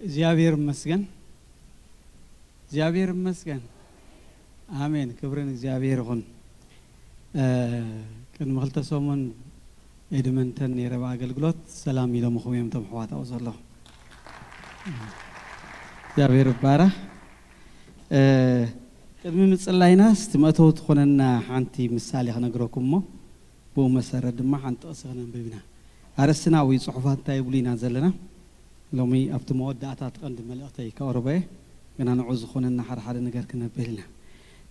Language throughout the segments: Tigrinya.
እግዚኣብሔር ይመስገን። እግዚኣብሔር ይመስገን። ኣሜን። ክብሪ ንእግዚኣብሔር ይኹን። እ፣ ቅድሚ ክልተ ሰሙን ኤድመንተን ነይረ ብኣገልግሎት። ሰላም ኢሎምኹም እዮም እቶም ኣሕዋት ኣብኡ ዘለኹ። እግዚኣብሔር ይባረኽ። እ፣ ቅድሚ ምጽላይና እስቲ መእተዊ ትኾነና ሓንቲ ምሳሌ ክነግረኩም እሞ ብኡ መሰረት ድማ ሓንቲ ጥቕሲ ክነንብብ ኢና። ኣርእስትና ወይ ጽሑፋት እንታይ ይብሉ ኢና ዘለና? ሎሚ ኣብቲ መወዳእታ እቲ ቀንዲ መልእኽተይ ከቕርቦ እየ። ግና ንዑ ዝኾነና ሓደ ሓደ ነገር ክነብል ኢና።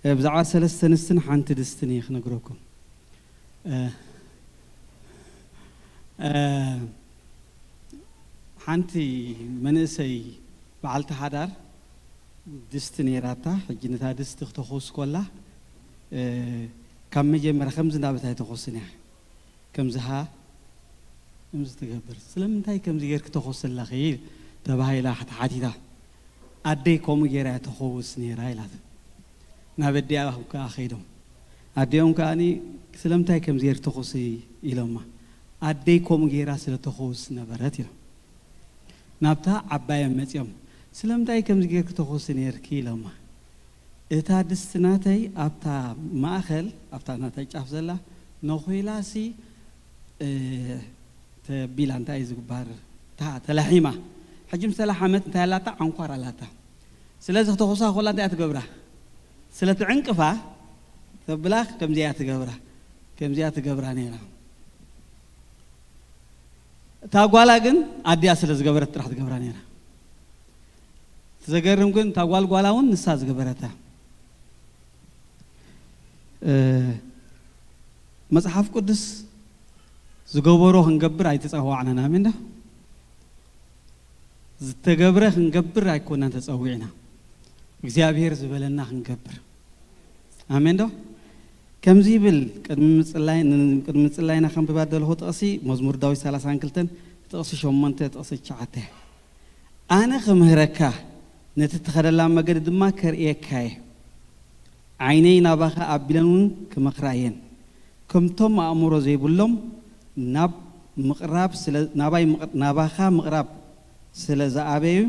እ፣ ብዛዕባ ሰለስተ ኣንስትን ሓንቲ ድስትን እየ ክነግረኩም። እ፣ እ፣ ሓንቲ መንእሰይ በዓልቲ ሓዳር ድስቲ ነይራታ። ሕጂ ነታ ድስቲ ክተኹስ ኮላ፣ እ፣ ካብ መጀመርያ ከምዚ እንዳበለት ኣይተኹስን እያ። ከምዚ ሃ፣ ከምዚ ትገብር። ስለምንታይ ከምዚ ጌርኪ ተኹሲ ኣለኺ? ተባሂላ ተሓቲታ። ኣደይ ከምኡ ጌራ እያ ተኹስ ነይራ ኢላት። ናብ ኣዲኣ ከዓ ከይዶም። ኣዲኦም ከዓኒ ስለምንታይ ከምዚ ጌርኪ ተኹሲ ኢሎማ። ኣደይ ከምኡ ጌራ ስለ ተኹስ ነበረት ኢሎም። ናብታ ዓባዮም መጺኦም። ስለምንታይ ከምዚ ጌርኪ ተኹሲ ነይርኪ ኢሎማ። እታ ድስቲ ናተይ ኣብታ ማእኸል፣ ኣብታ ናተይ ጫፍ ዘላ ነኹላሲ፣ እ፣ ተቢላ እንታይ እዩ ዝግባር? ታ-፣ ተላሒማ። ሕጂ ምስ ተላሓመት እንታይ ኣላታ? ዓንኳር ኣላታ። ስለዚ ክተኹሳ ኮላ እንታይ እያ ትገብራ? ስለ ትዕንቅፋ ተብላ ከምዚኣ እያ ትገብራ። ከምዚኣ ትገብራ ነይራ። እታ ጓላ ግን ኣዲኣ ስለ ዝገበረት ጥራሕ ትገብራ ነይራ። እቲ ዘገርም ግን እታ ጓል ጓላ እውን ንሳ ዝገበረታ። እ፣ መጽሓፍ ቅዱስ ዝገበሮ ክንገብር ኣይተጸዋዕናን። ኣሜን ዶ? ዝተገብረ ክንገብር ኣይኮናን ተጸዊዕና። እግዚኣብሔር ዝበለና ክንገብር። ኣሜን ዶ? ከምዚ ይብል፣ ቅድሚ ምጽላይ-፣ ን-፣ ቅድሚ ምጽላይና ከንብባ ዘለኹ ጥቕሲ መዝሙር ዳዊት ሰላሳን ክልተን ጥቕሲ ሸሞንተ ጥቕሲ ትሽዓተ። ኣነ ክምህረካ፣ ነቲ ትኸደላ መገዲ ድማ ከርእየካ እየ። ዓይነይ ናባኻ ኣቢለን እውን ክመኽራ እየን። ከምቶም ኣእምሮ ዘይብሎም ናብ ምቕራብ ስለ፣ ናባይ ምቕ-፣ ናባኻ ምቕራብ ስለ ዝኣበዩ፣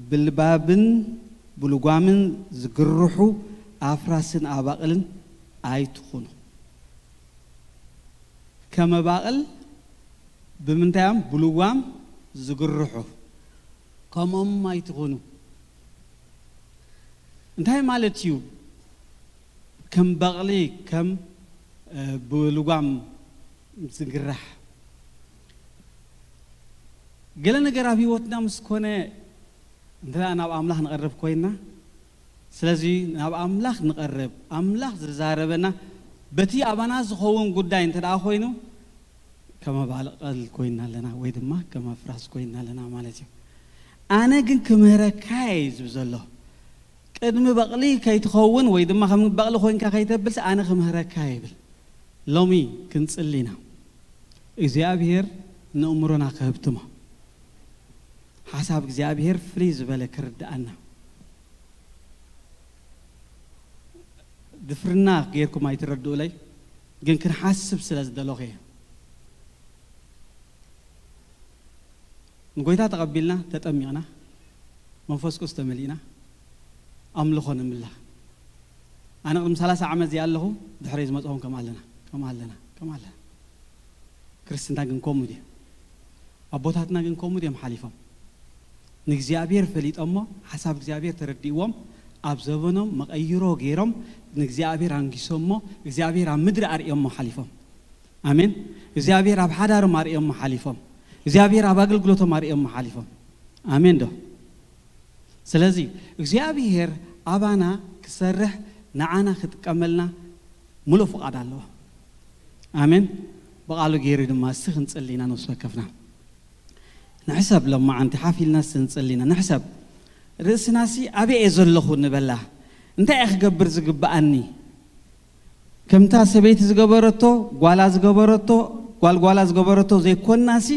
ብልባብን ብልጓምን ዝግርሑ ኣፍራስን ኣባቕልን ኣይትኹኑ። ከም ኣባቕል ብምንታይ እዮም ብልጓም ዝግርሑ? ከምኦም ኣይትኹኑ። እንታይ ማለት እዩ? ከም በቕሊ፣ ከም፣ እ፣ ብልጓም ዝግራሕ። ገለ ነገር ኣብ ህይወትና ምስ ኮነ፣ እንተ ደኣ ናብ ኣምላኽ ንቐርብ ኮይንና፣ ስለዚ ናብ ኣምላኽ ንቐርብ፣ ኣምላኽ ዝዛረበና በቲ ኣባና ዝኸውን ጉዳይ እንተ ደኣ ኮይኑ፣ ከም ኣባቕል ኮይንና ኣለና ወይ ድማ ከም ኣፍራስ ኮይንና ኣለና ማለት እዩ። ኣነ ግን ክምህረካ እየ ዝብል ዘሎ። ቅድሚ በቕሊ ከይትኸውን ወይ ድማ ከም በቕሊ ኮይንካ ከይተብልሲ ኣነ ክምህረካ እየ ይብል። ሎሚ ክንጽሊ ኢና። እግዚኣብሔር ንእምሮና ክህብትሞ። ሓሳብ እግዚኣብሔር ፍልይ ዝበለ ክርድኣና። ድፍርና ጌርኩም ኣይትረድኡለይ፣ ግን ክንሓስብ ስለ ዝደለኹ እየ። ንጎይታ ተቐቢልና፣ ተጠሚቕና፣ መንፈስ ቅዱስ ተመሊእና፣ ኣምልኾ ንምላ። ኣነ ቅድሚ ሰላሳ ዓመት እዚኣ ኣለኹ፣ ድሕረይ ዝመፅኹም ከም ኣለና፣ ከም ኣለና፣ ከም ኣለና። ክርስትና ግን ከምኡ ድዩ? ኣቦታትና ግን ከምኡ ድዮም ሓሊፎም? ንእግዚኣብሔር ፈሊጦሞ፣ ሓሳብ እግዚኣብሔር ተረዲእዎም፣ ኣብ ዘበኖም መቐይሮ ገይሮም፣ ንእግዚኣብሔር ኣንጊሶሞ፣ እግዚኣብሔር ኣብ ምድሪ ኣርእዮሞ ሓሊፎም። ኣሜን። እግዚኣብሔር ኣብ ሓዳሮም ኣርእዮሞ ሓሊፎም። እግዚኣብሔር ኣብ ኣገልግሎቶም ኣርእዮሞ ሓሊፎም። ኣሜን ዶ? ስለዚ እግዚኣብሔር ኣባና ክሰርሕ፣ ንዓና ክጥቀመልና ምሉእ ፍቓድ ኣለዎ። ኣሜን። ብቓሉ ገይሩ ድማ እስቲ ክንጽሊ ኢና፣ ነፍሲ ወከፍና ንሕሰብ። ሎማዓንቲ ሓፍ ኢልና እስቲ ንጽሊ ኢና፣ ንሕሰብ። ርእስናሲ ኣበይ እየ ዘለኹ ንበላ። እንታይ እየ ክገብር ዝግብኣኒ? ከምታ ሰበይቲ ዝገበረቶ፣ ጓላ ዝገበረቶ፣ ጓል ጓላ ዝገበረቶ ዘይኮንናሲ፣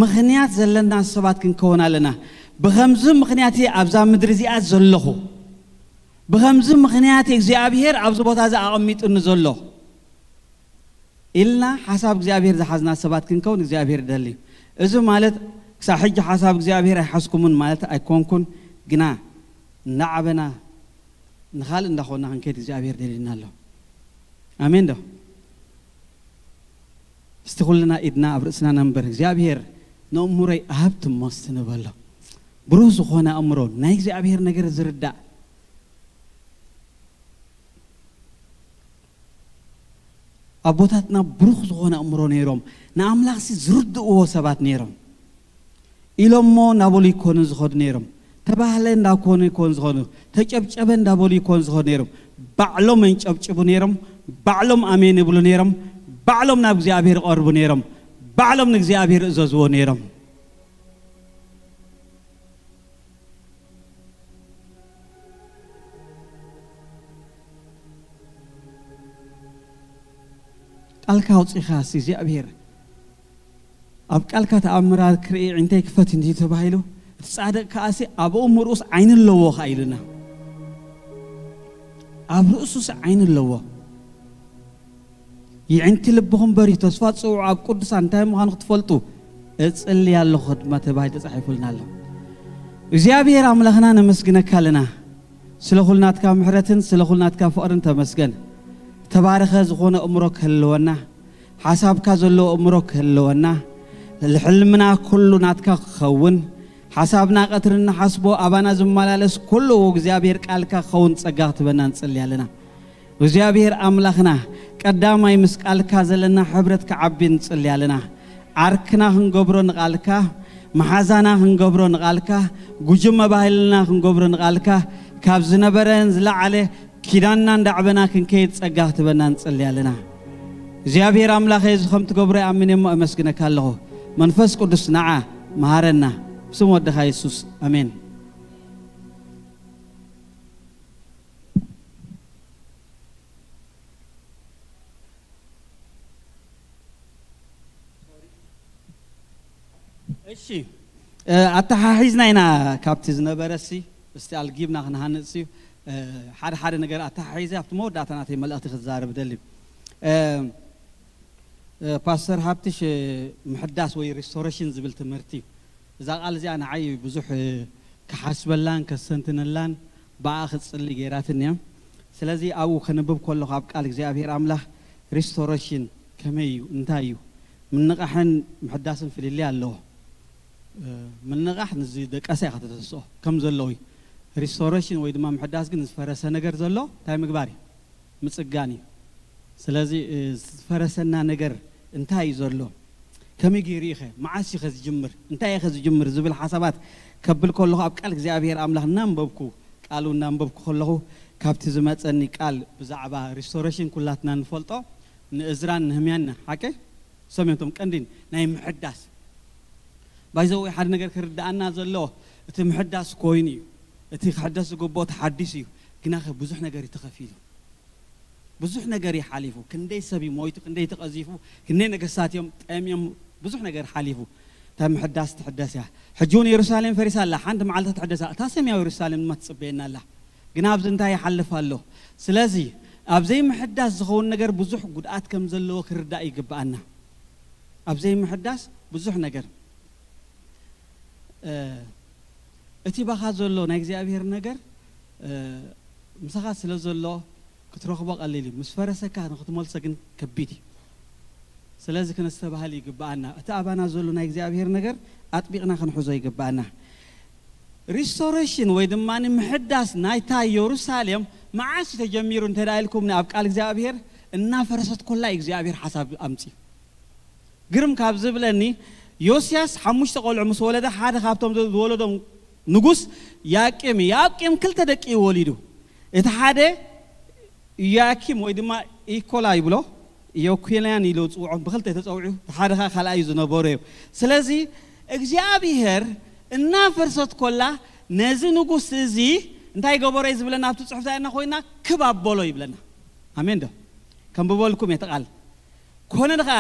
ምኽንያት ዘለና ሰባት ክንከውን ኣለና። ብኸምዚ ምኽንያት እየ ኣብዛ ምድሪ እዚኣ ዘለኹ። ብኸምዚ ምኽንያት እግዚኣብሔር ኣብዚ ቦታ እዚ ኣቐሚጡኒ ዘሎ ኢልና ሓሳብ እግዚኣብሔር ዝሓዝና ሰባት ክንከውን እግዚኣብሔር ይደሊ። እዚ ማለት ክሳብ ሕጂ ሓሳብ እግዚኣብሔር ኣይሓዝኩምን ማለት ኣይኮንኩን፣ ግና እናዓበና ንኻልእ እንዳኾንና ክንከይድ እግዚኣብሔር ደልዩና ኣሎ። ኣሜን ዶ? እስቲ ኩልና ኢድና ኣብ ርእስና ነንበር። እግዚኣብሔር፣ ነእምሮይ ኣህብትሞ እስቲ ንበሎ። ብሩህ ዝኾነ ኣእምሮ፣ ናይ እግዚኣብሔር ነገር ዝርዳእ። ኣቦታትና ብሩኽ ዝኾነ ኣእምሮ ነይሮም፣ ንኣምላኽሲ ዝርድእዎ ሰባት ነይሮም። ኢሎሞ እናበሉ ይኮኑ ዝኸዱ ነይሮም። ተባህለ እንዳኮኑ ይኮኑ ዝኸዱ፣ ተጨብጨበ እንዳበሉ ይኮኑ ዝኸዱ ነይሮም። ባዕሎም የንጨብጭቡ ነይሮም፣ ባዕሎም ኣሜን ይብሉ ነይሮም፣ ባዕሎም ናብ እግዚኣብሔር ይቐርቡ ነይሮም፣ ባዕሎም ንእግዚኣብሔር ይእዘዝዎ ነይሮም። ቃልካ ኣውጺኻ ሲ እግዚኣብሔር፣ ኣብ ቃልካ ተኣምራት ክርኢ ዕንተይ ክፈት እንዲ ተባሂሉ፣ እቲ ጻድቕ ከኣሲ ኣብ እሙ ርእስ ዓይኒ ኣለዎ ከኣ ኢሉና። ኣብ ርእሱስ ዓይኒ ኣለዎ። ይዕንቲ ልብኹም በርዩ፣ ተስፋ ጽውዑ፣ ኣብ ቅዱሳን እንታይ ምዃኑ ክትፈልጡ እጽሊ ኣለኹ ድማ ተባሂሉ ተጻሒፉልና ኣሎ። እግዚኣብሔር ኣምላኽና ነመስግነካ ኣለና። ስለ ኩሉ ናትካ ምሕረትን ስለ ኩሉ ናትካ ፍቕርን ተመስገን። ተባረኸ ዝኾነ እምሮ ክህልወና፣ ሓሳብካ ዘለዎ እምሮ ክህልወና፣ ሕልምና ኩሉ ናትካ ክኸውን፣ ሓሳብና ቀትሪ እንሓስቦ ኣባና ዝመላለስ ኩሉ እግዚኣብሔር ቃልካ ክኸውን ጸጋ ክትበና ንጽሊ ኣለና። እግዚኣብሔር ኣምላኽና፣ ቀዳማይ ምስ ቃልካ ዘለና ሕብረት ክዓቢ ንጽሊ ኣለና። ዓርክና ክንገብሮ ንቓልካ፣ መሓዛና ክንገብሮ ንቓልካ፣ ጉጅመ ባህልና ክንገብሮ ንቓልካ፣ ካብ ዝነበረን ዝለዓለ ኪዳንና እንዳዕበና ክንከይድ ጸጋ ክትበና ንጽሊ ኣለና። እግዚኣብሔር ኣምላኸ፣ እዚ ከም ትገብሮ ይኣምን እሞ እመስግነካ ኣለኹ። መንፈስ ቅዱስ ንዓ መሃረና። ብስም ወድኻ የሱስ፣ ኣሜን። እሺ፣ እ፣ ኣተሓሒዝና ኢና ካብቲ ዝነበረ ሲ፣ እስቲ ኣልጊብና ክንሃንጽ ሲ፣ እ፣ ሓደ ሓደ ነገር ኣተሓሒዘ ኣብቲ መወዳእታ ናተይ መልእኽቲ ክዛረብ ደሊ። እ፣ እ፣ ፓስተር ሃብትሽ፣ እ፣ ምሕዳስ ወይ ሪስቶሬሽን ዝብል ትምህርቲ እዩ። እዛ ቃል እዚኣ ንዓይ ብዙሕ፣ እ፣ ክሓስበላን ከስተንትነላን ብኣ ክጽሊ ገይራትኒ እያ። ስለዚ ኣብኡ ከንብብ ከለኹ ኣብ ቃል እግዚኣብሔር ኣምላኽ ሪስቶሬሽን ከመይ እዩ? እንታይ እዩ? ምንቓሕን ምሕዳስን ፍልልይ ኣለዎ። እ፣ ምንቓሕ ንዝደቀሰ ኢኻ ተተስኦ ከም ዘለዎ እዩ። ሪስቶሬሽን ወይ ድማ ምሕዳስ ግን ዝፈረሰ ነገር ዘሎ እንታይ ምግባር እዩ? ምጽጋን እዩ። ስለዚ፣ እ፣ ዝፈረሰና ነገር እንታይ እዩ ዘሎ? ከመይ ገይሩ እዩ ኸ? መዓስ እዩ ኸ ዝጅምር? እንታይ እዩ ኸ ዝጅምር? ዝብል ሓሳባት ከብል ከለኹ ኣብ ቃል እግዚኣብሔር ኣምላኽ እናንበብኩ፣ ቃሉ እናንበብኩ ከለኹ ካብቲ ዝመጸኒ ቃል ብዛዕባ ሪስቶሬሽን ኩላትና ንፈልጦ ንእዝራን ንህምያን ሓቂ ሰሜንቶም ቀንዲን ናይ ምሕዳስ ባይዘወይ ሓደ ነገር ክርድኣና ዘሎ እቲ ምሕዳስ ኮይኑ እዩ። እቲ ክሕደስ ዝግብኦ ተሓዲሱ እዩ። ግና ኸ ብዙሕ ነገር እዩ ተኸፊሉ። ብዙሕ ነገር እዩ ሓሊፉ። ክንደይ ሰብ እዩ ሞይቱ፣ ክንደይ ተቐዚፉ፣ ክንደይ ነገስታት እዮም ጠምዮም፣ ብዙሕ ነገር ሓሊፉ። እታ ምሕዳስ ትሕደስ እያ። ሕጂ እውን የሩሳሌም ፈሪሳ ኣላ፣ ሓንቲ መዓልቲ ትሕደሳ። እታ ሰማያዊ የሩሳሌም ድማ ትጽበየና ኣላ። ግና ኣብዚ እንታይ ይሓልፍ ኣሎ? ስለዚ ኣብ ዘይምሕዳስ ዝኸውን ነገር ብዙሕ ጉድኣት ከም ዘለዎ ክርዳእ ይግብኣና። ኣብ ዘይምሕዳስ ብዙሕ ነገር፣ እ፣ እቲ ባኻ ዘሎ ናይ እግዚኣብሔር ነገር፣ እ፣ ምሳኻ ስለ ዘሎ ክትረኽቦ ቀሊል እዩ። ምስ ፈረሰካ ንክትመልሶ ግን ከቢድ እዩ። ስለዚ ክነስተባህል ይግብኣና። እቲ ኣባና ዘሎ ናይ እግዚኣብሔር ነገር ኣጥቢቕና ክንሕዞ ይግብኣና። ሪስቶሬሽን ወይ ድማ ምሕዳስ ናይታ የሩሳሌም መዓስ እዩ ተጀሚሩ እንተ ደኣ ኢልኩምኒ፣ ኣብ ቃል እግዚኣብሔር እናፈረሰት ኮላ እዩ እግዚኣብሔር ሓሳብ ኣምፅኡ። ግርም ካብ ዝብለኒ፣ ዮስያስ ሓሙሽተ ቆልዑ ምስ ወለደ፣ ሓደ ካብቶም ዝወለዶም ንጉስ ያቂም እዩ። ያቂም ክልተ ደቂ እዩ ወሊዱ። እቲ ሓደ ኢያኪም ወይ ድማ ኢኮላ ይብሎ፣ ኢዮኪልያን ኢሉ ዝፅውዖም ብክልተ ተፀዊዑ፣ እቲ ሓደ ከዓ ካልኣይ እዩ ዝነበሩ እዮም። ስለዚ እግዚኣብሔር እናፈርሰት ኮላ ነዚ ንጉስ እዚ እንታይ ገበሮ እዩ ዝብለና? ኣብቲ ፅሑፍ እንታይ ኮይና ክብ ኣበሎ ይብለና። ኣሜን ዶ? ከንብበልኩም እየ እቲ ቃል። ኮነ ኸዓ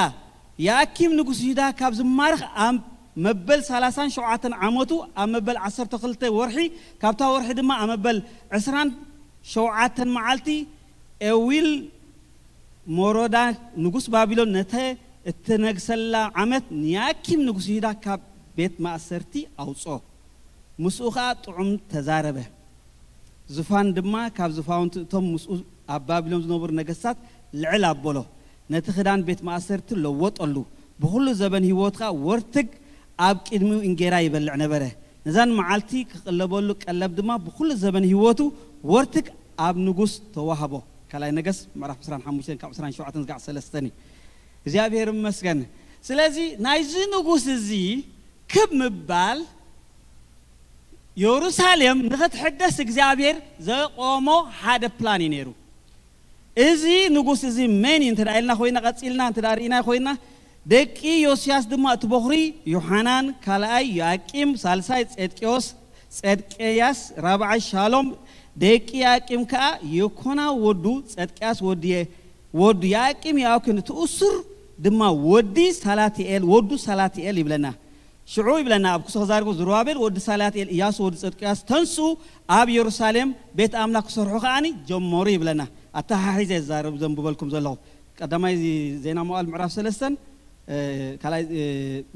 ያኪም ንጉስ ይሁዳ ካብ ዝማርኽ ኣብ መበል ሰላሳን ሸውዓተን ዓመቱ ኣብ መበል ዓሰርተ ክልተ ወርሒ፣ ካብታ ወርሒ ድማ ኣብ መበል ዕስራን ሸውዓተን መዓልቲ ኤዊል ሞሮዳ ንጉስ ባቢሎን ነተ እትነግሰላ ዓመት ንያኪም ንጉስ ይሁዳ ካብ ቤት ማእሰርቲ ኣውፅኦ። ምስኡ ኸዓ ጥዑም ተዛረበ። ዝፋን ድማ ካብ ዝፋውንቲ እቶም ምስኡ ኣብ ባቢሎን ዝነበሩ ነገስታት ልዕል ኣበሎ። ነቲ ክዳን ቤት ማእሰርቲ ለወጠሉ። ብኹሉ ዘበን ህይወትካ ወርትግ ኣብ ቅድሚኡ እንጌራ ይበልዕ ነበረ። ነዛን መዓልቲ ክቕለበሉ ቀለብ ድማ ብኹሉ ዘበን ህይወቱ ወርትግ ኣብ ንጉስ ተዋህቦ። ካልኣይ ነገስ ምዕራፍ ዕስራን ሓሙሽተን ካብ ዕስራን ሸውዓተን ዝጋዕ ሰለስተን እዩ። እግዚኣብሔር ይመስገን። ስለዚ ናይዚ ንጉስ እዚ ክብ ምባል የሩሳሌም ንኽትሕደስ እግዚኣብሔር ዘቆሞ ሓደ ፕላን እዩ ነይሩ። እዚ ንጉስ እዚ መን እዩ እንተ ኢልና ኮይና፣ ቀጺልና እንተ ርኢና ኮይና፣ ደቂ ዮስያስ ድማ እቲ በኹሪ ዮሓናን፣ ካልኣይ ዮኣቂም፣ ሳልሳይ ጼድቅዮስ፣ ጼድቅያስ፣ ራብዓይ ሻሎም፣ ደቂ ዮኣቂም ከኣ የኮና ወዱ ጼድቅያስ ወዲ፣ ወዱ ዮኣቂም ዮኣኪን፣ እቲ እሱር ድማ ወዲ ሳላትኤል፣ ወዱ ሳላትኤል ይብለና። ሽዑ ይብለና፣ ኣብ ክሶ ክዛርቦ፣ ዝሩባቤል ወዲ ሳላትኤል፣ ኢያሱ ወዲ ጸድቅያስ ተንሱ፣ ኣብ የሩሳሌም ቤት ኣምላኽ ክሰርሑ ከኣኒ ጀመሩ ይብለና። ኣተሓሒዘ ዝዛረብ ዘንብበልኩም ዘለኹ። ቀዳማይ ዜና መዋዕል ምዕራፍ ሰለስተን፣ እ፣ ካልኣይ፣ እ፣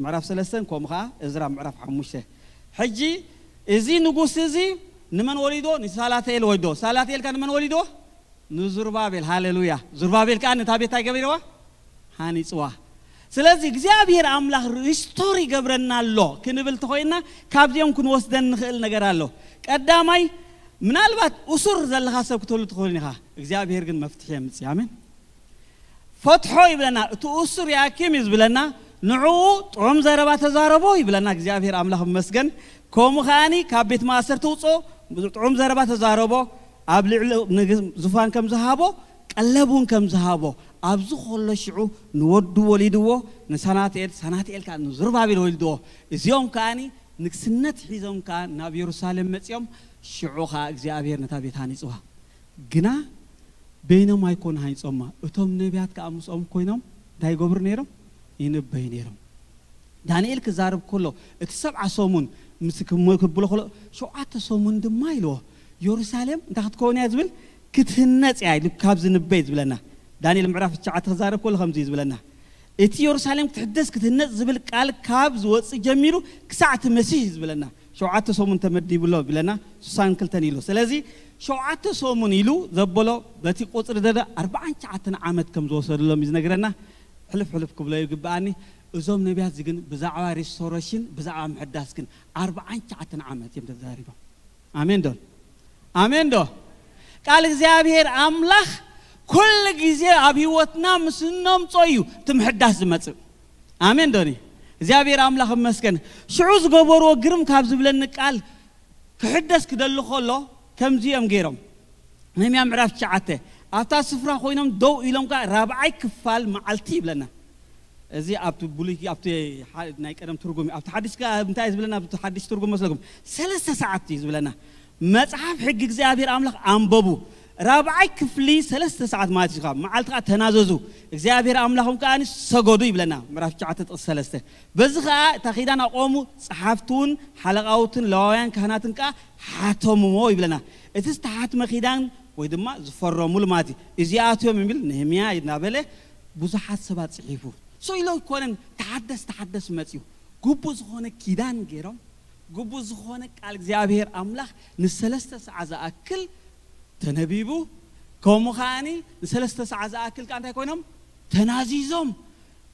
ምዕራፍ ሰለስተን፣ ከምኡ ከኣ እዝራ ምዕራፍ ሓሙሽተ። ሕጂ እዚ ንጉስ እዚ ንመን ወሊዶ? ንሳላትኤል ወሊዶ። ሳላትኤል ከ ንመን ወሊዶ? ንዙርባቤል። ሃሌሉያ። ዙርባቤል ከኣ ነታ ቤት እንታይ ገቢርዋ? ሃኒጽዋ። ስለዚ እግዚኣብሔር ኣምላኽ ሪስቶር ይገብረና ኣሎ ክንብል ተኾይና፣ ካብዚኦም ክንወስደን ንኽእል ነገር ኣሎ። ቀዳማይ፣ ምናልባት እሱር ዘለኻ ሰብ ክትህሉ ትኽእል ኢኻ። እግዚኣብሔር ግን መፍትሒ የምጽእ። ኣሜን። ፈትሖ ይብለና። እቲ እሱር ያኪም እዩ ዝብለና። ንዕኡ ጥዑም ዘረባ ተዛረቦ ይብለና። እግዚኣብሔር ኣምላኽ ይመስገን። ከምኡ ከኣኒ ካብ ቤት ማእሰርቲ ውፅኦ፣ ጥዑም ዘረባ ተዛረቦ። ኣብ ልዕሊ ንግ-፣ ዙፋን ከም ዝሃቦ፣ ቀለብ እውን ከም ዝሃቦ፣ ኣብዚ ከሎ ሽዑ ንወዱ ወሊድዎ፣ ንሳናትኤል፣ ሳናትኤል ከኣ ንዝሩባቤል ወሊድዎ። እዚኦም ከኣኒ ንግስነት ሒዞም ከኣ ናብ የሩሳሌም መጺኦም፣ ሽዑ ከኣ እግዚኣብሔር ነታ ቤት ሃኒጽዋ። ግና በይኖም ኣይኮኑ ሃኒጾማ፣ እቶም ነቢያት ከኣ ምስኦም ኮይኖም እንታይ ይገብሩ ነይሮም? ይንበዩ ነይሮም። ዳንኤል ክዛረብ ከሎ፣ እቲ ሰብዓ ሰሙን ምስ ክም-፣ ክብሎ ከሎ፣ ሸውዓተ ሰሙን ድማ ኢልዎ፣ የሩሳሌም እንታይ ክትከውን እያ ዝብል? ክትህነጽ እያ ኢሉ ካብ ዝንበይ ዝብለና። ዳንኤል ምዕራፍ ትሽዓተ ክዛረብ ከሎ ከምዚ እዩ ዝብለና። እቲ የሩሳሌም ክትሕደስ ክትህነጽ ዝብል ቃል ካብ ዝወጽእ ጀሚሩ ክሳዕ እቲ መሲህ እዩ ዝብለና። ሸውዓተ ሰሙን ተመዲቡ ኣሎ ይብለና፣ ስሳን ክልተን ኢሉ። ስለዚ ሸውዓተ ሰሙን ኢሉ ዘበሎ በቲ ቁጽሪ ደደ ኣርብዓን ትሽዓተን ዓመት ከም ዝወሰደሎም እዩ ዝነግረና። ሕልፍ ሕልፍ ክብሎ ይግብኣኒ። እዞም ነቢያት እዚ ግን ብዛዕባ ሪስቶሬሽን፣ ብዛዕባ ምሕዳስ ግን ኣርብዓን ትሽዓተን ዓመት እዮም ተዛሪቦም። ኣሜን ዶ? ኣሜን ዶ? ቃል እግዚኣብሔር ኣምላኽ ኩሉ ግዜ ኣብ ህይወትና ምስ እነምጾ እዩ እቲ ምሕዳስ ዝመጽእ። ኣሜን ዶኒ? እግዚኣብሔር ኣምላኽ ይመስገን። ሽዑ ዝገበርዎ ግርም ካብ ዝብለኒ ቃል፣ ክሕደስ ክደሊ ከሎ ከምዚ እዮም ገይሮም። ነህምያ ምዕራፍ ትሽዓተ፣ ኣብታ ስፍራ ኮይኖም ደው ኢሎም ከኣ ራብዓይ ክፋል መዓልቲ ይብለና። እዚ ኣብቲ ብሉይ፣ ኣብቲ ሓ-፣ ናይ ቀደም ትርጉም እዩ። ኣብቲ ሓዲስ ከኣ እንታይ እዩ ዝብለና? ኣብቲ ሓዲስ ትርጉም መስለኩም? ሰለስተ ሰዓት እዩ ዝብለና። መጽሓፍ ሕጊ እግዚኣብሔር ኣምላኽ ኣንበቡ። ራብዓይ ክፍሊ ሰለስተ ሰዓት ማለት እዩ። ካብ መዓልቲ ከኣ ተናዘዙ፣ እግዚኣብሔር ኣምላኹም ከኣ ሰገዱ ይብለና። ምዕራፍ ትሽዓተ ጥቕሲ ሰለስተ። በዚ ከኣ እታ ኪዳን ኣቆሙ፣ ጸሓፍቲ እውን ሓለቓውትን ለዋውያን ካህናትን ከኣ ሓተምዎ ይብለና። እቲ ዝተሓትመ ኪዳን ወይ ድማ ዝፈረሙሉ ማለት እዩ። እዚኣቶም የሚል ነህምያ እናበለ ብዙሓት ሰባት ጽሒፉ። ሶ ኢሎ ኣይኮነን ተሓደስ ተሓደስ መጽዩ። ግቡእ ዝኾነ ኪዳን ገይሮም፣ ግቡእ ዝኾነ ቃል እግዚኣብሔር ኣምላኽ ንሰለስተ ሰዓት ዝኣክል ተነቢቡ፣ ከምኡ ከዓኒ ንሰለስተ ሰዓት ዝኣክል ከኣ እንታይ ኮይኖም? ተናዚዞም።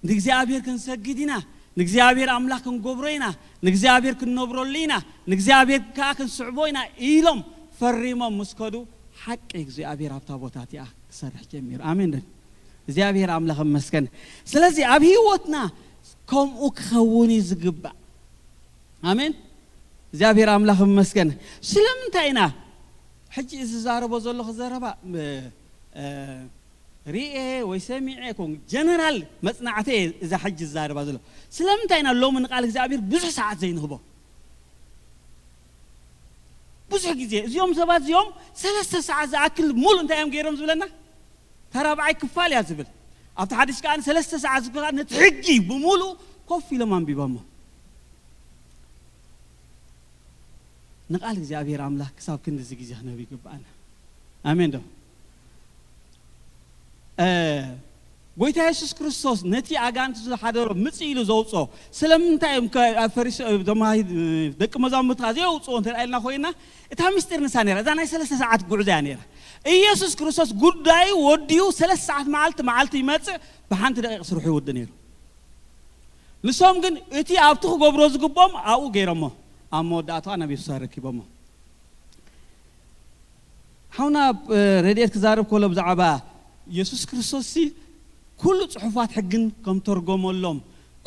ንእግዚኣብሔር ክንሰግድ ኢና፣ ንእግዚኣብሔር ኣምላኽ ክንገብሮ ኢና፣ ንእግዚኣብሔር ክንነብረሉ ኢና፣ ንእግዚኣብሔር ከኣ ክንስዕቦ ኢና ኢሎም ፈሪሞም ምስ ከዱ፣ ሓቂ እግዚኣብሔር ኣብታ ቦታ እቲኣ ክሰርሕ ጀሚሩ። ኣሜን ዶ? እግዚኣብሔር ኣምላኽ ይመስገን። ስለዚ ኣብ ህይወትና ከምኡ ክኸውን እዩ ዝግባእ። ኣሜን። እግዚኣብሔር ኣምላኽ ይመስገን። ስለምንታይ ኢና ሕጂ እዚ ዝዛረቦ ዘለኹ ዘረባ፣ እ፣ እ፣ ሪኤ ወይ ሰሚዐ ኮን ጀነራል መጽናዕቲ እየ እዛ ሕጂ ዝዛረባ ዘሎ። ስለምንታይ ኢና ሎሚ ንቃል እግዚኣብሔር ብዙሕ ሰዓት ዘይንህቦ? ብዙሕ ግዜ እዚኦም ሰባት እዚኦም ሰለስተ ሰዓት ዝኣክል ሙሉ እንታይ እዮም ገይሮም ዝብለና? ተራብዓይ ክፋል እያ ዝብል። ኣብቲ ሓድሽ ከኣ ሰለስተ ሰዓት ዝከ ነቲ ሕጊ ብምሉ ኮፍ ኢሎም ኣንቢቦሞ። ንቃል እግዚኣብሔር ኣምላኽ ክሳብ ክንድዚ ግዜ ክነብ ይግብኣና። ኣሜን ዶ? እ፣ ጎይታ የሱስ ክርስቶስ ነቲ ኣጋንንቲ ዝሓደሮ ምጽእ ኢሉ ዘውጽኦ ስለምንታይ እዮም ከ-፣ ኣብ ፈሪስ-፣ እቶም ኣይ-፣ ደቂ መዛሙርትኻ ዘየውጽኦ እንተ ደኣ ኢልና ኮይና፣ እታ ምስጢር ንሳ ነይራ። እዛ ናይ ሰለስተ ሰዓት ጉዕዞ እያ ነይራ። ኢየሱስ ክርስቶስ ጉዳዩ ወዲኡ ሰለስተ ሰዓት መዓልቲ መዓልቲ ይመጽእ፣ ብሓንቲ ደቂቕ ስርሑ ይውዲ ነይሩ። ንሶም ግን እቲ ኣብቲ ክገብሮ ዝግብኦም ኣብኡ ገይሮሞ፣ ኣብ መወዳእታዋ ናብ የሱስ ኣረኪቦሞ። ሓውና፣ እ፣ ረድኤት ክዛረብ ከሎ ብዛዕባ የሱስ ክርስቶስ ሲ ኩሉ ጽሑፋት ሕግን ከም ተርጎመሎም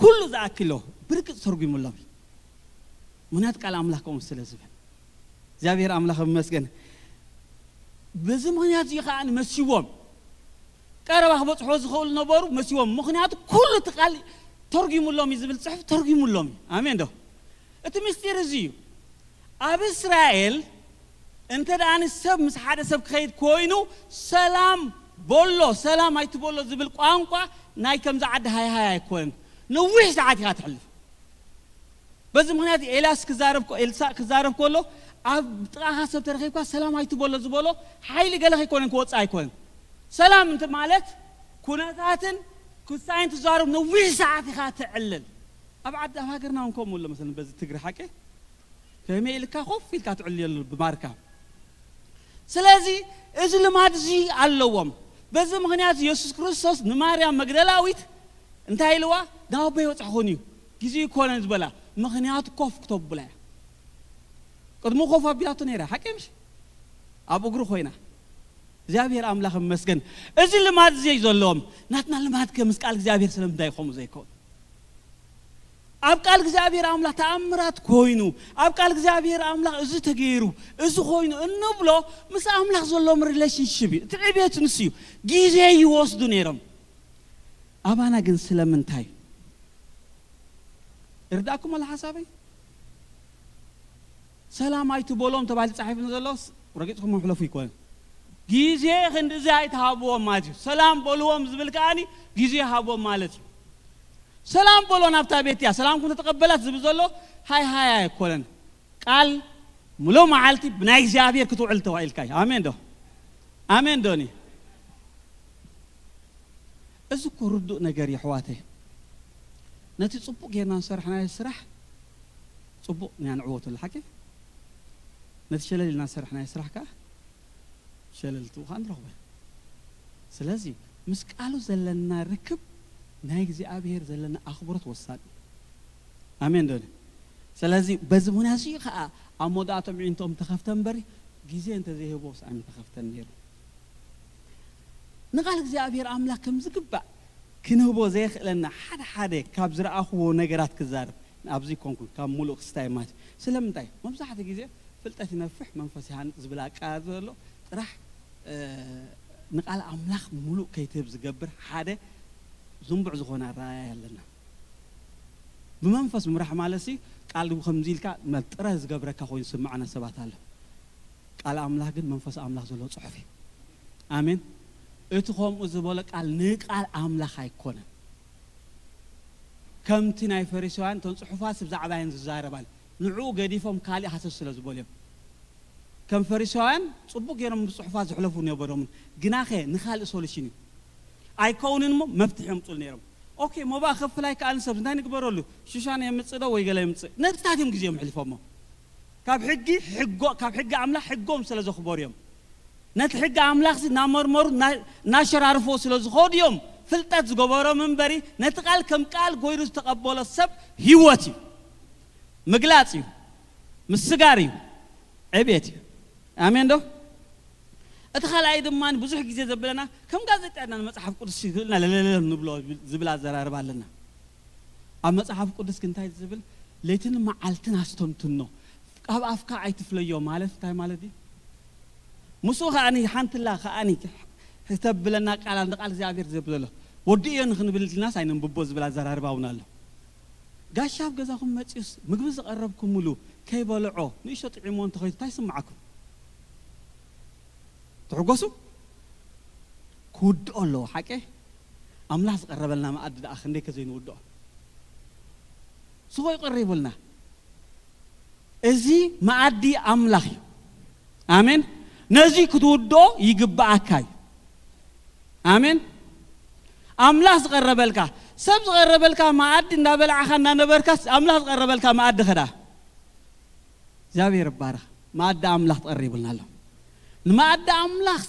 ኩሉ ዝኣክሎ ብርግጽ ተርጉሙሎም እዩ። ምኽንያቱ ቃል ኣምላኽ ከምኡ ስለ ዝብል። እግዚኣብሔር ኣምላኽ ይመስገን። በዚ ምኽንያት እዚ ከኣ መሲዎም ቀረባ ክበጽሖ ዝኽእሉ ነበሩ፣ መሲዎም። ምኽንያቱ ኩሉ እቲ ቃል ተርጉሙሎም እዩ ዝብል ጽሑፍ ተርጉሙሎም እዩ። ኣሜን ዶ? እቲ ምስጢር እዚ እዩ። ኣብ እስራኤል እንተ ደኣ ንሰብ ምስ ሓደ ሰብ ክኸይድ ኮይኑ ሰላም በሎ፣ ሰላም ኣይትበሎ ዝብል ቋንቋ ናይ ከምዚ ዓዲ ሃይሃይ ኣይኮነን። ነዊሕ ሰዓት ኢኻ ትሕልፍ። በዚ ምኽንያት ኤልያስ ክዛረብ ኮ-፣ ኤልሳዕ ክዛረብ ከሎ ኣብ ጥቓኻ ሰብ ተረኺብካ ሰላም ኣይትበሎ ዝበሎ ሓይሊ ገለ ከይኮነን ክወጽእ ኣይኮነን። ሰላም እንተ ማለት ኩነታትን ክሳይን ትዛረብ ነዊሕ ሰዓት ኢኻ ትዕልል። ኣብ ዓዲ፣ ኣብ ሃገርና እውን ከምኡ ኣሎ። መሰለኒ በዚ ትግሪ ሓቂ ከመይ ኢልካ ኮፍ ኢልካ ትዕልየሉ ብማርካ። ስለዚ እዚ ልማድ እዚ ኣለዎም። በዚ ምኽንያት የሱስ ክርስቶስ ንማርያም መግደላዊት እንታይ ኢልዋ? ናብ ኣቦይ በጻሕኹን እዩ፣ ግዜ ይኮነን ዝበላ። ምኽንያቱ ኮፍ ክተብላ እያ። ቅድሙ ኮፍ ኣቢላቶ ነይራ፣ ሓቂ ምሽ? ኣብ እግሩ ኮይና። እግዚኣብሔር ኣምላኽ ይመስገን። እዚ ልማድ እዚ እዩ ዘለዎም። ናትና ልማድ ከ ምስ ቃል እግዚኣብሔር ስለምንታይ ከምኡ ዘይከውን? ኣብ ቃል እግዚኣብሔር ኣምላኽ ተኣምራት ኮይኑ፣ ኣብ ቃል እግዚኣብሔር ኣምላኽ እዚ ተገይሩ፣ እዚ ኮይኑ እንብሎ ምስ ኣምላኽ ዘለዎም ሪሌሽንሽፕ እዩ። እቲ ዕቤት ንሱ እዩ። ግዜ ይወስዱ ነይሮም። ኣባና ግን ስለምንታይ? ይርዳእኩም ኣሎ ሓሳበይ? ሰላም ኣይትበሎም ተባሂሉ ተጻሒፉ ዘሎስ ረጊጽኩም መሕለፉ ይኮን። ግዜ ክንድዚ ኣይትሃብዎም ማለት እዩ። ሰላም በልዎም ዝብል ከኣኒ ግዜ ሃቦም ማለት እዩ። ሰላም በሎ ናብታ ቤት እያ፣ ሰላምኩም ተተቐበላት ዝብል ዘሎ ሃይ ሃይ ኣይኮነን። ቃል ሙሉእ መዓልቲ ብናይ እግዚኣብሔር ክትውዕል ተባሂልካ እዩ። ኣሜን ዶ? ኣሜን ዶኒ? እዚ እኮ ርዱእ ነገር እዩ ኣሕዋተይ። ነቲ ጽቡቕ ጌርና ዝሰርሕናዮ ስራሕ ጽቡቕ ኢና ንዕወተሉ፣ ሓቂ? ነቲ ሸለል ኢልና ዝሰርሕናዮ ስራሕ ከኣ ሸለል ትብኡ ከኣ ንረኽቦ ኢና። ስለዚ ምስ ቃሉ ዘለና ርክብ ናይ እግዚኣብሔር ዘለና ኣኽብሮት ወሳኒ እዩ። ኣሜን ዶ? ስለዚ በዚ ምኽንያት እዚ ከኣ ኣብ መወዳእቶም ኣዒንቶም ተኸፍተ እምበሪ ግዜ እንተዘይህቦስ ኣይምተኸፍተን ነይሩ። ንቓል እግዚኣብሔር ኣምላኽ ከም ዝግባእ ክንህቦ ዘየኽእለና ሓደ ሓደ ካብ ዝረኣኽዎ ነገራት ክዛረብ፣ ኣብዚ ኮንኩን ካብ ሙሉእ ክስታይ ማለት እዩ። ስለምንታይ? መብዛሕትኡ ግዜ ፍልጠት ይነፍሕ መንፈስ ይሃንጽ ዝብል ኣቃራርባ ዘሎ ጥራሕ፣ እ፣ ንቓል ኣምላኽ ሙሉእ ከይትህብ ዝገብር ሓደ ዝንቡዕ ዝኾነ ኣረኣእያ ኣለና። ብመንፈስ ምምራሕ ማለት ሲ ቃል ከምዚ ኢልካ መ-፣ ጥረ ዝገብረካ ኮይኑ ዝስምዓና ሰባት ኣሎ። ቃል ኣምላኽ ግን መንፈስ ኣምላኽ ዘለዎ ጽሑፍ እዩ። ኣሜን። እቲ ከምኡ ዝበሎ ቃል ንቃል ኣምላኽ ኣይኮነን። ከምቲ ናይ ፈሪሳውያን እተን ጽሑፋት ብዛዕባየን ዝዛረባል ንዕኡ ገዲፎም ካልእ ሃሰስ ስለ ዝበሉ እዮም። ከም ፈሪሳውያን ጽቡቅ ገይሮም ብጽሑፋት ዝሕለፉ ነበሮምን፣ ግናኸ ንኻልእ ሶሉሽን እዩ ኣይከውንን እሞ መፍትሒ የምጹል ነይሮም። ኦኬ፣ ሞባእ ከፍል ኣይከኣልን፣ ሰብ እንታይ ንግበረሉ? ሽሻን የምጽእ ዶ ወይ ገለ የምጽእ? ነትታት እዮም ግዜኦም ሕልፎሞ። ካብ ሕጊ ሕጎ ካብ ሕጊ ኣምላኽ ሕጎም ስለ ዘኽበሩ እዮም። ነቲ ሕጊ ኣምላኽ ሲ እናመርመሩ እናሸራርፎ ስለ ዝኾዱ እዮም ፍልጠት ዝገበሮም እምበሪ፣ ነቲ ቃል ከም ቃል ጎይሩ ዝተቐበሎ ሰብ ህይወት እዩ፣ ምግላጽ እዩ፣ ምስጋር እዩ፣ ዕቤት እዩ። ኣሜን ዶ? እቲ ካልኣይ ድማ ብዙሕ ግዜ ዘብለና ከም ጋዜጣ ና መጽሓፍ ቅዱስ ይክእልና ለለለ ንብሎ ዝብል ኣዘራርባ ኣለና። ኣብ መጽሓፍ ቅዱስ ግን እንታይ ዝብል? ለይትን መዓልትን ኣስተንትኖ፣ ካብ ኣፍካ ኣይትፍለዮ ማለት እንታይ ማለት እዩ? ምስኡ ከኣኒ ሓንትላ ከኣኒ ክተብለና ቃል ንቃል እግዚኣብሔር ዘብለሎ ወዲ እዮ ንክንብል ኢልናስ ኣይነንብቦ ዝብል ኣዘራርባ እውን ኣሎ። ጋሻ ኣብ ገዛኹም መፅዩስ ምግቢ ዝቐረብኩምሉ ከይበልዖ ንእሽቶ ጥዒሞ እንተኸይዱ እንታይ ይስምዓኩም? ትሕጎሱ? ክውድኦ ኣለዎ ሓቀ። ኣምላኽ ዝቐረበልና መኣዲ ደኣ ክንደይ ከዘይንውድኦ ስኾ ይቐሪቡልና። እዚ መኣዲ ኣምላኽ እዩ። ኣሜን። ነዚ ክትውድኦ ይግብኣካ እዩ። ኣሜን። ኣምላኽ ዝቐረበልካ ሰብ ዝቐረበልካ መኣዲ እንዳበላዕኻ እንዳነበርካ ኣምላኽ ዝቐረበልካ መኣዲ ኸዳ እግዚኣብሔር ይባረኽ። መኣዲ ኣምላኽ ትቐሪቡልና ኣሎ። ንመኣዲ ኣምላኽ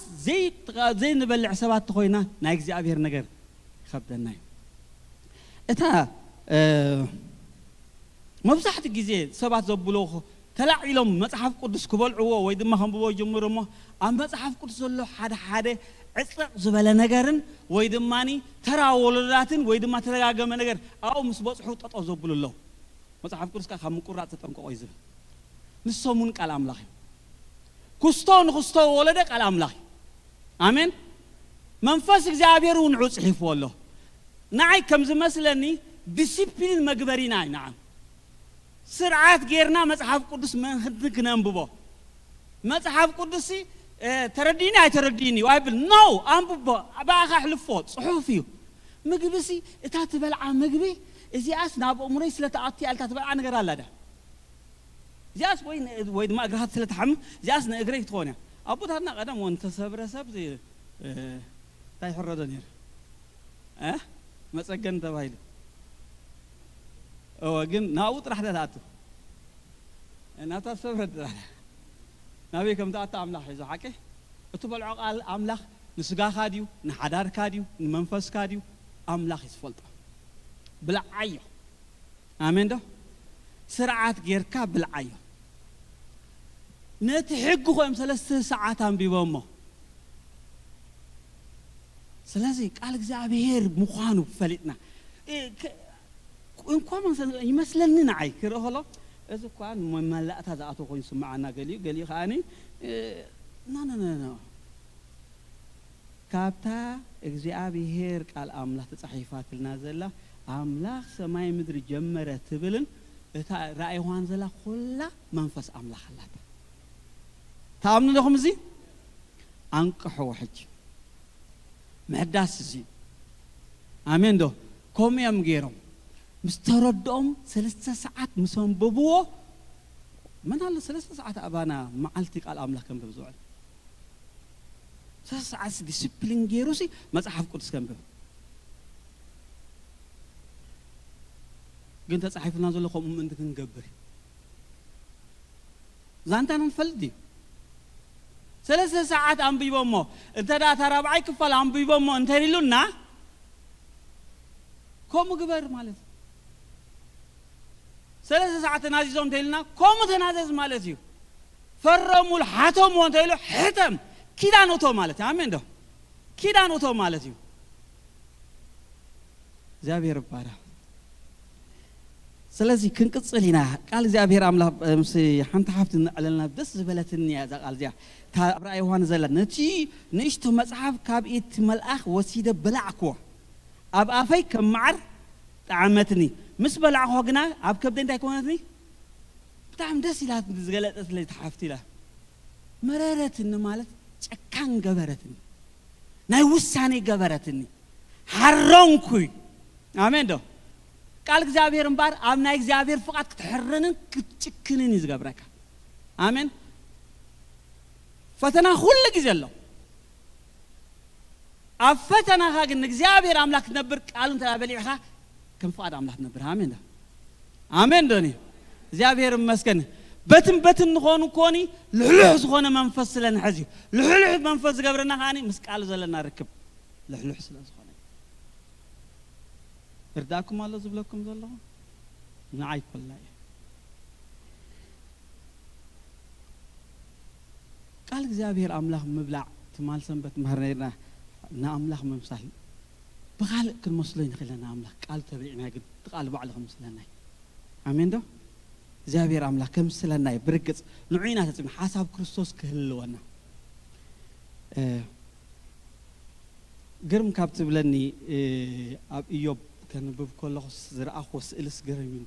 ዘይንበልዕ ሰባት ተኾይና ናይ እግዚኣብሔር ነገር ይኸብደና እዩ። እታ መብዛሕትኡ ግዜ ሰባት ዘብሎ ተላዒሎም መጽሓፍ ቅዱስ ክበልዕዎ ወይ ድማ ከንብቦ ይጅምሩ እሞ ኣብ መጽሓፍ ቅዱስ ዘሎ ሓደ ሓደ ዕፅቕ ዝበለ ነገርን ወይ ድማ ተራ ወለዳትን ወይ ድማ ተደጋገመ ነገር ኣብኡ ምስ በፅሑ ጠጠው ዘብሉ ኣለዉ። መጽሓፍ ቅዱስ ከዓ ካብ ምቁራፅ ተጠንቀቆ እዩ ዝብል። ንሶም እውን ቃል ኣምላኽ እዩ። ክስቶ ንክስቶ ወለደ ቃል ኣምላኽ እዩ። ኣሜን። መንፈስ እግዚኣብሔር እውን ንዑ ፅሒፍዎ ኣሎ። ንዓይ ከም ዝመስለኒ ዲሲፕሊን መግበሪና እዩ። ንዓም ስርዓት ጌርና መጽሓፍ ቅዱስ ምእንቲ ክነንብቦ። መጽሓፍ ቅዱስ ተረዲኒ ኣይተረዲኒ ይብል ነው። ኣንብቦ፣ ብኣኻ ኣሕልፎ፣ ጽሑፍ እዩ። ምግቢ ሲ እታ ትበልዓ ምግቢ እዚኣስ ናብ ኣእምሮይ ስለ ትኣቱ እያ ኢልካ ትበልዓ ነገር ኣላ ዳ? እዚኣስ ወይ ን- ወይ ድማ እግርኻ ስለ ትሓምም እዚኣስ ንእግረይ ክትኾን እያ። ኣቦታትና ቀደም እውን ተሰብረ ሰብ ዚ- እ፣ እንታይ ይሕረዶ ነይሩ? እ? መጸገን ተባሂሉ። እወ፣ ግን ናብኡ ጥራሕ ዳ ትኣቱ። ናብታ ሰብረ ጥራሕ ናበይ ከም ትኣቱ ኣምላኽ ሒዞ ሓቂ። እቲ በልዖ ቃል ኣምላኽ ንስጋኻ ድዩ ንሓዳርካ ድዩ ንመንፈስካ ድዩ? ኣምላኽ እዩ ዝፈልጦ። ብልዓዮ። ኣሜን ዶ? ስርዓት ጌርካ ብልዓዮ። ነቲ ሕጊ ኮይም ሰለስተ ሰዓት ኣንቢቦሞ። ስለዚ ቃል እግዚኣብሔር ምዃኑ ፈሊጥና እ፣ ከ- እንኳ መሰ- ይመስለኒ ንዓይ ክርኢ ከሎ እዚ እኳ መመላእታ ዝኣተወ ኮይኑ ስምዓና ገሊኡ ገሊኡ ከዓኒ እ፣ ኖ ኖ ኖ ኖ ካብታ እግዚኣብሔር ቃል ኣምላኽ ተጻሒፋትልና ዘላ ኣምላኽ ሰማይ ምድሪ ጀመረ ትብልን እታ ራእይ ዮሃን ዘላ ኩላ መንፈስ ኣምላኽ ኣላታ። ተኣምኑ ዶኹም እዚ? ኣንቅሕዎ ሕጂ። ምሕዳስ እዚ ኣሜን ዶ? ከምኡ እዮም ገይሮም ምስ ተረድኦም ሰለስተ ሰዓት ምስ ኣንበብዎ መን ኣሎ ሰለስተ ሰዓት ኣባና መዓልቲ ቃል ኣምላኽ ከንብብ ዝውዕል? ሰለስተ ሰዓት ዲስፕሊን ገይሩ ሲ መጽሓፍ ቅዱስ ከንብብ ግን ተጻሒፉና ዘሎ ከምኡ ምእንቲ ክንገብር ዛንታና ንፈልጥ ድዩ? ሰለስተ ሰዓት ኣንቢቦሞ እንተ ደኣ እታ ራብዓይ ክፋል ኣንቢቦሞ እንተ ኢሉና ከምኡ ግበር ማለት እዩ። ሰለስተ ሰዓት ተናዚዞም እንተ ኢሉና ከምኡ ተናዘዝ ማለት እዩ። ፈረሙሉ ሓተምዎ እንተ ኢሉ ሕተም ኪዳን እቶ ማለት እዩ። ኣሜን ዶ? ኪዳን እቶ ማለት እዩ። እግዚኣብሔር ይባረክ። ስለዚ ክንቅፅል ኢና። ቃል እግዚኣብሔር ኣምላኽ ምስ ሓንቲ ሓፍቲ ንዕለልና ደስ ዝበለትኒ እያ እዛ ቃል እዚኣ። እታ ኣብ ራእይ ዮሃንስ ዘላ ነቲ ንእሽቶ መጽሓፍ ካብ ኢድ እቲ መልኣኽ ወሲደ በላዕክዎ፣ ኣብ ኣፈይ ከም መዓር ጠዓመትኒ። ምስ በላዕክዎ ግና ኣብ ከብደይ እንታይ ኮነትኒ? ብጣዕሚ ደስ ኢላ ዝገለጸትለይ እታ ሓፍቲ ኢላ። መረረትኒ ማለት ጨካን ገበረትኒ፣ ናይ ውሳኔ ገበረትኒ፣ ሓረንኩይ። ኣሜን ዶ? ቃል እግዚኣብሔር እምበኣር ኣብ ናይ እግዚኣብሔር ፍቓድ ክትሕረንን ክትጭክንን እዩ ዝገብረካ። ኣሜን። ፈተና ኩሉ ግዜ ኣሎ። ኣብ ፈተናኻ ግን ንእግዚኣብሔር ኣምላኽ ክትነብር ቃሉ እንተ በሊዕኻ ከም ፍቓድ ኣምላኽ ትነብር። ኣሜን ዶ? ኣሜን ዶኒ? እግዚኣብሔር ይመስገን። በትን በትን ንኾኑ ኮኒ ልሕሉሕ ዝኾነ መንፈስ ስለ ንሕዝ እዩ። ልሕሉሕ መንፈስ ዝገብረና ከዓኒ ምስ ቃሉ ዘለና ርክብ ልሕሉሕ ስለ ዝኾነ እዩ። እርዳእኩም ኣሎ ዝብለኩም ዘለኹ ንዓይ ኮላ እዩ። ቃል እግዚኣብሔር ኣምላኽ ምብላዕ ትማል ሰንበት ምህር ነርና። ንኣምላኽ ምምሳል ብኻልእ ክንመስሎ ንኽእል ኢና። ኣምላኽ ቃል ተብሊዕና ግን እቲ ቃል ባዕሉ ክምስለና እዩ። ኣሜን ዶ? እግዚኣብሔር ኣምላኽ ከምስለና እዩ። ብርግጽ ንዑ ኢና ተጽብና ሓሳብ ክርስቶስ ክህልወና። እ፣ ግርም ካብ ትብለኒ፣ እ፣ ኣብ ኢዮብ ከንብብ ከለኹ ዝረኣኹዎ ስእልስ ግርም እዩ።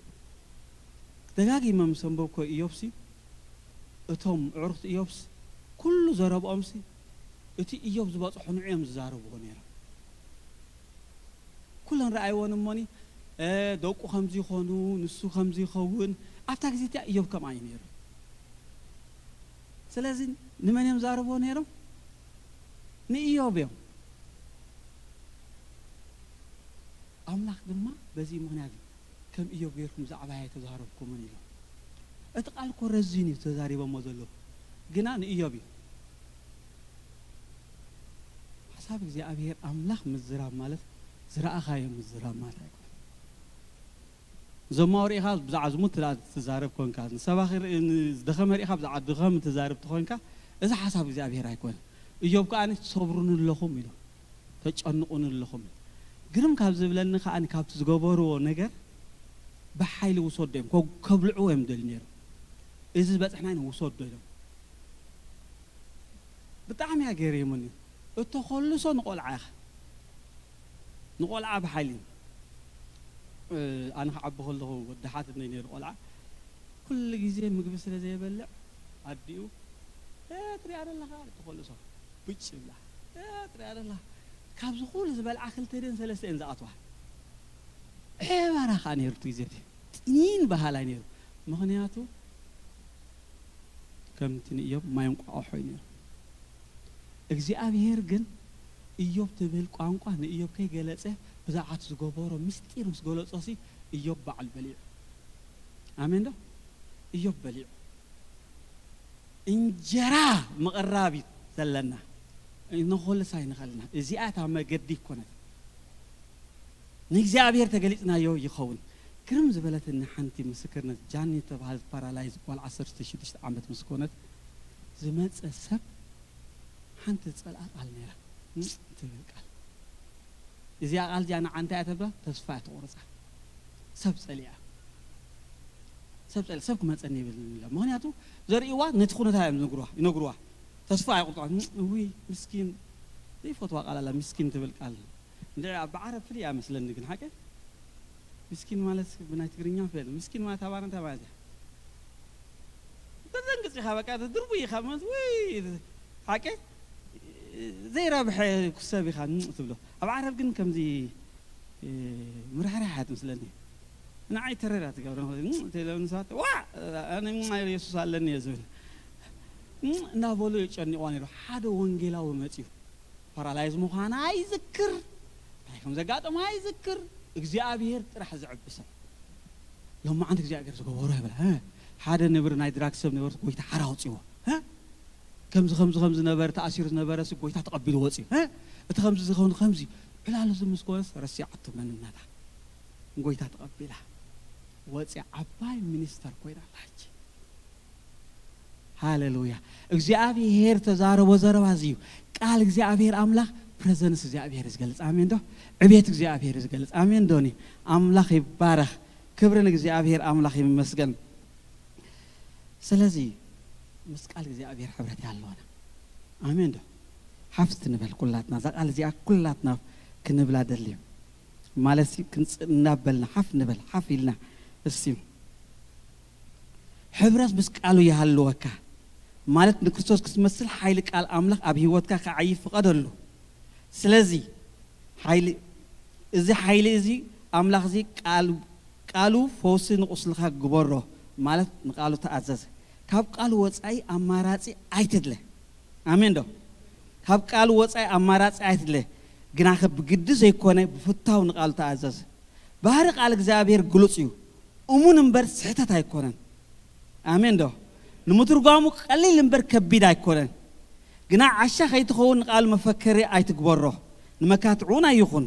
ደጋጊመ ምስ ኣንበብኮ ኢዮብሲ እቶም ኣዕሩኽቲ ኢዮብስ ኩሉ ዘረብኦምሲ እቲ ኢዮብ ዝበጽሖ ንዑ እዮም ዝዛረብዎ ነይሮም። ኩለን ረኣይዎን እሞኒ፣ እ፣ ደቁ ከምዚ ይኾኑ፣ ንሱ ከምዚ ይኸውን። ኣብታ ግዜ እቲኣ ኢዮብ ከምኣ እዩ ነይሩ። ስለዚ ንመን እዮም ዛረብዎ ነይሮም? ንኢዮብ እዮም። ኣምላኽ ድማ በዚ ምኽንያት እዩ ከም ኢዮብ ጌርኩም ብዛዕባይ ኣይተዛረብኩምን ኢሎም። እቲ ቃል እኮ ረዚን እዩ ተዛሪቦሞ ዘለዉ፣ ግና ንኢዮብ እዩ። ሓሳብ እግዚኣብሔር ኣምላኽ ምዝራብ ማለት ዝረኣኻዮ ምዝራብ ማለት ኣይኮነን። ዘማዊ ርኢኻ ብዛዕባ ዝሙት ትላ-፣ ትዛረብ ኮንካ፣ ንሰባኺ ርኢ-፣ ንዝደኸመ ርኢኻ ብዛዕባ ድኸም ትዛረብ ተኾንካ፣ እዚ ሓሳብ እግዚኣብሔር ኣይኮነን። እዮብ ከኣ ሰብሩኒ ኣለኹም ኢሉ፣ ተጨንቑኒ ኣለኹም። ግርም ካብ ዝብለኒ ከኣ ካብቲ ዝገበርዎ ነገር ብሓይሊ ውሰዶ እዮም፣ ከ-፣ ከብልዕዎ እዮም ደልዩ ነይሮም። እዚ ዝበጽሕና ኢና ውሰዶ ኢሎም። ብጣዕሚ እያ ገሪሙኒ። እተኾልሶ ንቆልዓ ኢኻ። ንቆልዓ ብሓይሊ። እ፣ ኣነ ክዓቢ ከለኹ ወዲ ሓትነይ ነይሩ ቆልዓ። ኩሉ ግዜ ምግቢ ስለ ዘይበልዕ ኣዲኡ፣ "እ፣ ትሪኣ ዘለኻ?" ትኾልሶ። ብጭ ይብላ። "እ፣ ትሪኣ ዘለኻ?" ካብዚ ኩሉ ዝበልዓ ክልተ ድን ሰለስተ እየን ዝኣትዋ። ዕበራ ከኣ ነይሩ እቲ ግዜ እቲ። ጥኒን በሃላይ ነይሩ። ምኽንያቱ ከምቲ ንእዮብ ማይ እንቋቑሖ እዩ ነይሩ። እግዚኣብሔር ግን እዮብ ትብል ቋንቋ ንእዮብ ከይገለጸ ብዛዕባ እቲ ዝገበሮ ምስጢር ምስ ገለጾሲ እዮብ ባዕሉ በሊዑ። ኣሜን ዶ? እዮብ በሊዑ። እንጀራ ምቕራብ እዩ ዘለና። ነኾልሳ ይንኸልና። እዚኣ እታ መገዲ ይኮነት። ንእግዚኣብሔር ተገሊጽናዮ ይኸውን። ግርም ዝበለትኒ ሓንቲ ምስክርነት ጃኒ ዝተባህለት ፓራላይዝ ጓል ዓሰርተ ሽዱሽተ ዓመት ምስ ኮነት ዝመጸ ሰብ ሓንቲ ዝጸልኣ ቃል ነይራ። እም ትብል ቃል። እዚኣ ቃል እዚኣ ንዓ እንታይ እያ ተብላ? ተስፋ እያ ትቑርጻ። ሰብ ጸሊኣ። ሰብ ጸሊኣ፣ ሰብ ክመጸኒ ይብል ኢላ። ምኽንያቱ ዘርእይዋ ነቲ ኩነታ እዮም ዝነግሩዋ፣ ይነግሩዋ። ተስፋ ኣይቑርጻ። እም፣ እውይ፣ ምስኪን። ዘይፈትዋ ቃል ኣላ፣ ምስኪን ትብል ቃል። እንድዒ ኣብ ዓረብ ፍልይ እያ መስለኒ ግን ሓቂ። ምስኪን ማለት ብናይ ትግርኛ ፍል። ምስኪን ማለት ኣባና እንታይ ማለት እያ? ተዘንግጽ ኢኻ በቃ፣ ድርቡይ ኢኻ ማለት፣ ውይ፣ ሓቂ ዘይረብሐ ሰብ ኢኻ ትብሎ። ኣብ ዓረብ ግን ከምዚ፣ እ፣ ምርሕራሕ እያ ትመስለኒ። ንዓይ ተረዳ ትገብረ፣ እንተ ኢሎም ንሳት፣ "ዋ፣ ኣነ የሱስ ኣለኒ እየ" ዝብል። እናበሉ የጨንቕዋ ነይሩ። ሓደ ወንጌላዊ መጺኡ። ፓራላይዝ ምዃና ኣይዝክር፣ እንታይ ከም ዘጋጠማ ኣይዝክር። እግዚኣብሔር ጥራሕ ዘዕቢ ሰብ። ሎማዓንቲ እግዚኣብሔር ዝገበሮ ይብላ። እ፣ ሓደ ነብሪ ናይ ድራግ ሰብ ነበርስ ጎይታ ሓራ ኣውፅዎ። እ፣ ከምዚ፣ ከምዚ፣ ከምዚ ነበረ፣ ተኣሲሩ ዝነበረ ሲ ጎይታ ተቐቢሉ ወፅዩ። እ፣ እቲ ከምዚ ዝኸውን ከምዚ። ዕላሉ እዚ ምስ ኮነስ ረሲዓቶ መንነታ። ጎይታ ተቐቢላ። ወፅያ ዓባይ ሚኒስተር ኮይና ኣላ ሕጂ። ሃሌሉያ። እግዚኣብሔር ተዛረቦ ዘረባ እዚ እዩ። ቃል እግዚኣብሔር ኣምላኽ ፕሬዘንስ እግዚኣብሔር እዩ ዝገልጽ። ኣሜን ዶ? ዕቤት እግዚኣብሔር እዩ ዝገልጽ። ኣሜን ዶኒ? ኣምላኽ ይባረኽ። ክብሪ ንእግዚኣብሔር ኣምላኽ ይመስገን። ስለዚ ምስ ቃል እግዚኣብሔር ሕብረት ኣለና። ኣሜን ዶ? ሓፍት ንበል ኩላትና። እዛ ቃል እዚኣ ኩላትና ክንብላ ደልዩ። ማለት ሲ ክንጽ-፣ እናበልና ሓፍ ንበል፣ ሓፍ ኢልና። እስቲ ሕብረት ምስ ቃሉ ይሃልወካ። ማለት ንክርስቶስ ክትመስል ሓይሊ ቃል ኣምላኽ ኣብ ህይወትካ ክዓዪ ፍቐደሉ። ስለዚ ሓይሊ፣ እዚ ሓይሊ እዚ ኣምላኽ እዚ ቃል-፣ ቃሉ ፈውሲ ንቁስልኻ ግበሮ፣ ማለት ንቃሉ ተኣዘዝ። ካብ ቃሉ ወጻኢ ኣማራጺ ኣይትድለ። ኣሜን ዶ? ካብ ቃሉ ወጻኢ ኣማራጺ ኣይትድለ፣ ግናኸ ብግዲ ዘይኮነ ብፍታው ንቃሉ ተኣዘዝ። ባህሪ ቃል እግዚኣብሔር ግሉጽ እዩ፣ እሙን እምበር ስሕተት ኣይኮነን። ኣሜን ዶ? ንምትርጓሙ ቀሊል እምበር ከቢድ ኣይኮነን። ግና ዓሻ ከይትኸውን ንቃሉ መፈከሪ ኣይትግበሮ፣ ንመካትዑ እውን ኣይኹን፣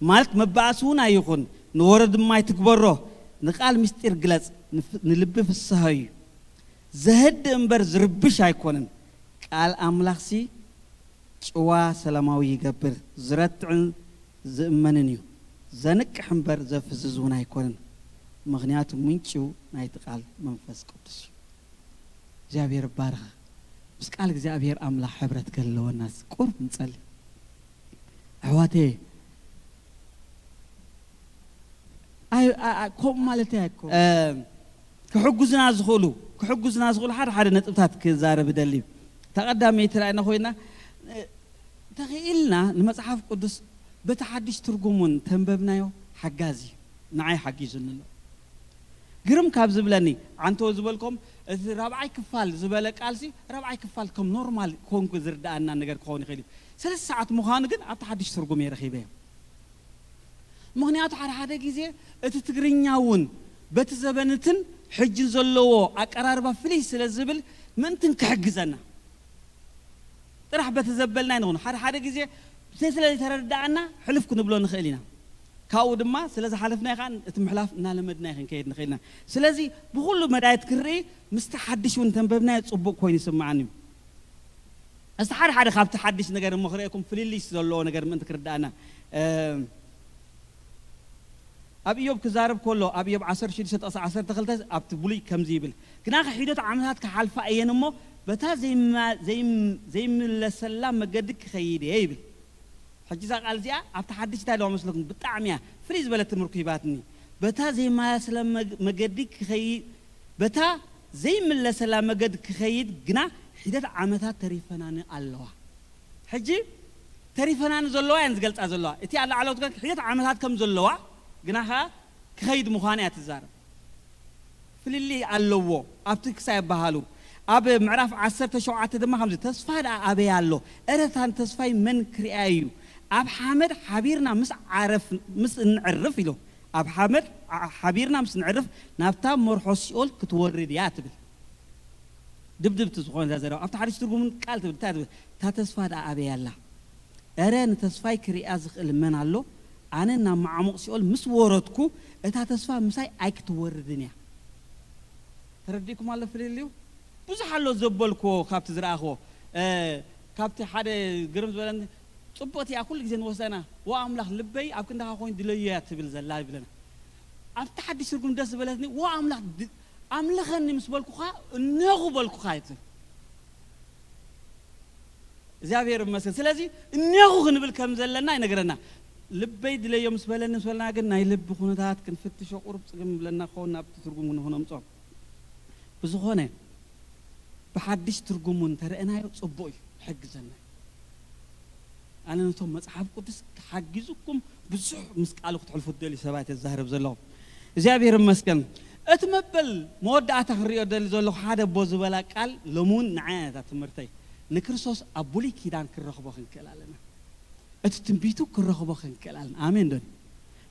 ማለት መባእሲ እውን ኣይኹን፣ ንወረ ድማ ኣይትግበሮ። ንቃል ምስጢር ግለጽ፣ ንፍ- ንልቢ ፍስሃ እዩ። ዘህድእ እምበር ዝርብሽ ኣይኮነን። ቃል ኣምላኽሲ ጭዋ ሰላማዊ ይገብር፣ ዝረትዕን ዝእመንን እዩ። ዘንቅሕ እምበር ዘፍዝዝ እውን ኣይኮነን፣ ምኽንያቱ ምንጭው ናይቲ ቃል መንፈስ ቅዱስ እዩ። እግዚኣብሔር ባርኻ። ምስ ቃል እግዚኣብሔር ኣምላኽ ሕብረት ከለወናስ ቁርብ ንጸሊ። ኣሕዋቴ፣ ኣይ- ኣ- ኣ- ከምኡ ማለት ኣይኮ እ፣ ክሕጉዝና ዝኽእሉ ክሕጉዝና ዝኽእሉ ሓደ ሓደ ነጥብታት ክዛረብ እደሊ። ተቐዳመይቲ ላይና ኮይና፣ እ፣ ተኽኢልና ንመጽሓፍ ቅዱስ በቲ ሓድሽ ትርጉም እውን ተንበብናዮ ሓጋዚ ንዓይ ሓጊዙኒ ኣሎ። ግርም ካብ ዝብለኒ፣ ዓንተወ ዝበልኮም፣ እቲ ራብዓይ ክፋል ዝበለ ቃልሲ ራብዓይ ክፋል ከም ኖርማል ኮንኩ ዝርዳኣና ነገር ክኸውን ይኽእል እዩ። ሰለስተ ሰዓት ምዃኑ ግን ኣብቲ ሓድሽ ትርጉም እየ ረኺበዮ። ምኽንያቱ ሓደ ሓደ ግዜ እቲ ትግርኛ እውን በቲ ዘበንትን ሕጅን ዘለዎ ኣቀራርባ ፍልይ ስለ ዝብል ምእንትን ክሕግዘና ጥራሕ በቲ ዘበልና ይንኹን። ሓደ ሓደ ግዜ ስለ ዘይተረዳእና ሕልፍ ክንብሎ ንኽእል ኢና። ካብኡ ድማ ስለ ዝሓለፍና ኢኻ እቲ ምሕላፍ እናለመድና ይኽን ከይድ ንኽእል ኢና። ስለዚ ብኹሉ መዳየት ክርኢ ምስቲ ሓድሽ እውን ተንበብናዮ ጽቡቕ ኮይኑ ይስምዓኒ እዩ። እስቲ ሓደ ሓደ ካብቲ ሓድሽ ነገር እሞ ክርእየኩም ፍልልይ ዘለዎ ነገር ምእንቲ ክርዳእና። እም፣ ኣብ ኢዮብ ክዛረብ ከሎ ኣብ ኢዮብ ዓሰርተ ሽዱሽተ ጥቕሲ ዓሰርተ ክልተ ኣብቲ ብሉይ ከምዚ ይብል፣ ግናኸ ሒደት ዓመታት ክሓልፋ እየን እሞ በታ ዘይማ- ዘይም- ዘይምለሰላ መገዲ ክኸይድ እየ ይብል። ሕጂ እዛ ቃል እዚኣ ኣብቲ ሓድሽ እንታይ ኣለዋ መስለኩም? ብጣዕሚ እያ ፍልይ ዝበለት ትምህርቲ ሂባትኒ። በታ ዘይመለሰላ መግ- መገዲ ክኸይድ በታ ዘይምለሰላ መገዲ ክኸይድ ግና ሒደት ዓመታት ተሪፈናኒ ኣለዋ። ሕጂ ተሪፈናኒ ዘለዋ እየን ዝገልጻ ዘለዋ። እቲ ኣላዕለዎት ግን ሒደት ዓመታት ከም ዘለዋ ግና ኸኣ ክኸይድ ምዃኑ እያ ትዛረብ። ፍልልይ ኣለዎ። ኣብቲ ክሳይ ኣበሃሉ ኣብ ምዕራፍ ዓሰርተ ሸውዓተ ድማ ከምዚ፣ ተስፋ ደኣ ኣበይ ኣሎ? እረ እታን ተስፋይ መን ክሪኣ እዩ? ኣብ ሓመድ ሓቢርና ምስ ዓረፍ ምስ እንዕርፍ ኢሉ፣ ኣብ ሓመድ ዓ- ሓቢርና ምስ ንዕርፍ ናብታ መርሖ ሲኦል ክትወርድ እያ ትብል። ድብድብቲ ዝኾነ እዛ ዘረባ ኣብቲ ሓድሽ ትርጉምን ቃል ትብል እንታይ ትብል? እታ ተስፋ ደኣ ኣበይ ኣላ? እረ ንተስፋይ ክሪኣ ዝኽእል መን ኣሎ? ኣነ ናብ መዓሙቕ ሲኦል ምስ ወረድኩ እታ ተስፋ ምሳይ ኣይክትወርድን እያ። ተረዲእኩም ኣሎ ፍልልዩ? ብዙሕ ኣሎ ዘበልክዎ ካብቲ ዝረኣኽዎ። እ፣ ካብቲ ሓደ ግርም ዝበለኒ፣ ጽቡቕቲ እያ ኩሉ ግዜ ንወስዳ ኢና። ዋ ኣምላኽ ልበይ ኣብ ክንዳኻ ኮይኑ ድለዮ እያ ትብል ዘላ ይብለና። ኣብቲ ሓድሽ ትርጉም ደስ ዝበለትኒ፣ ዋ ኣምላኽ ድ- ኣምልኸኒ ምስ በልኩኻ እነኹ በልኩኻ እያ ትብል። እግዚኣብሔር ይመስገን። ስለዚ እነኹ ክንብል ከም ዘለና ይነግረና። ልበይ ድለዮ ምስ በለኒ ምስ በለና ግን ናይ ልቢ ኩነታት ክንፍትሾ ቁሩብ ጽግም ይብለና ክኸውን ናብቲ ትርጉም ንክነምጾ። ብዝኾነ ብሓድሽ ትርጉሙ እንተረእናዮ ጽቡቕ እዩ፣ ይሕግዘና እዩ። ኣነ ነቶም መጽሓፍ ቅዱስ ክሓግዝኩም ብዙሕ ምስ ቃሉ ክትሕልፉ ትደልዩ ሰባት እየ ዝዛረብ ዘለኹ። እግዚኣብሔር ይመስገን። እቲ መበል መወዳእታ ክንሪኦ ደሊ ዘለኹ ሓደ ኣቦ ዝበላ ቃል ሎሚ እውን ንዓይ እያ እታ ትምህርተይ። ንክርስቶስ ኣብ ብሉይ ኪዳን ክንረኽቦ ክንክእል ኣለና። እቲ ትንቢቱ ክንረኽቦ ክንክእል ኣለና። ኣሜን ዶ?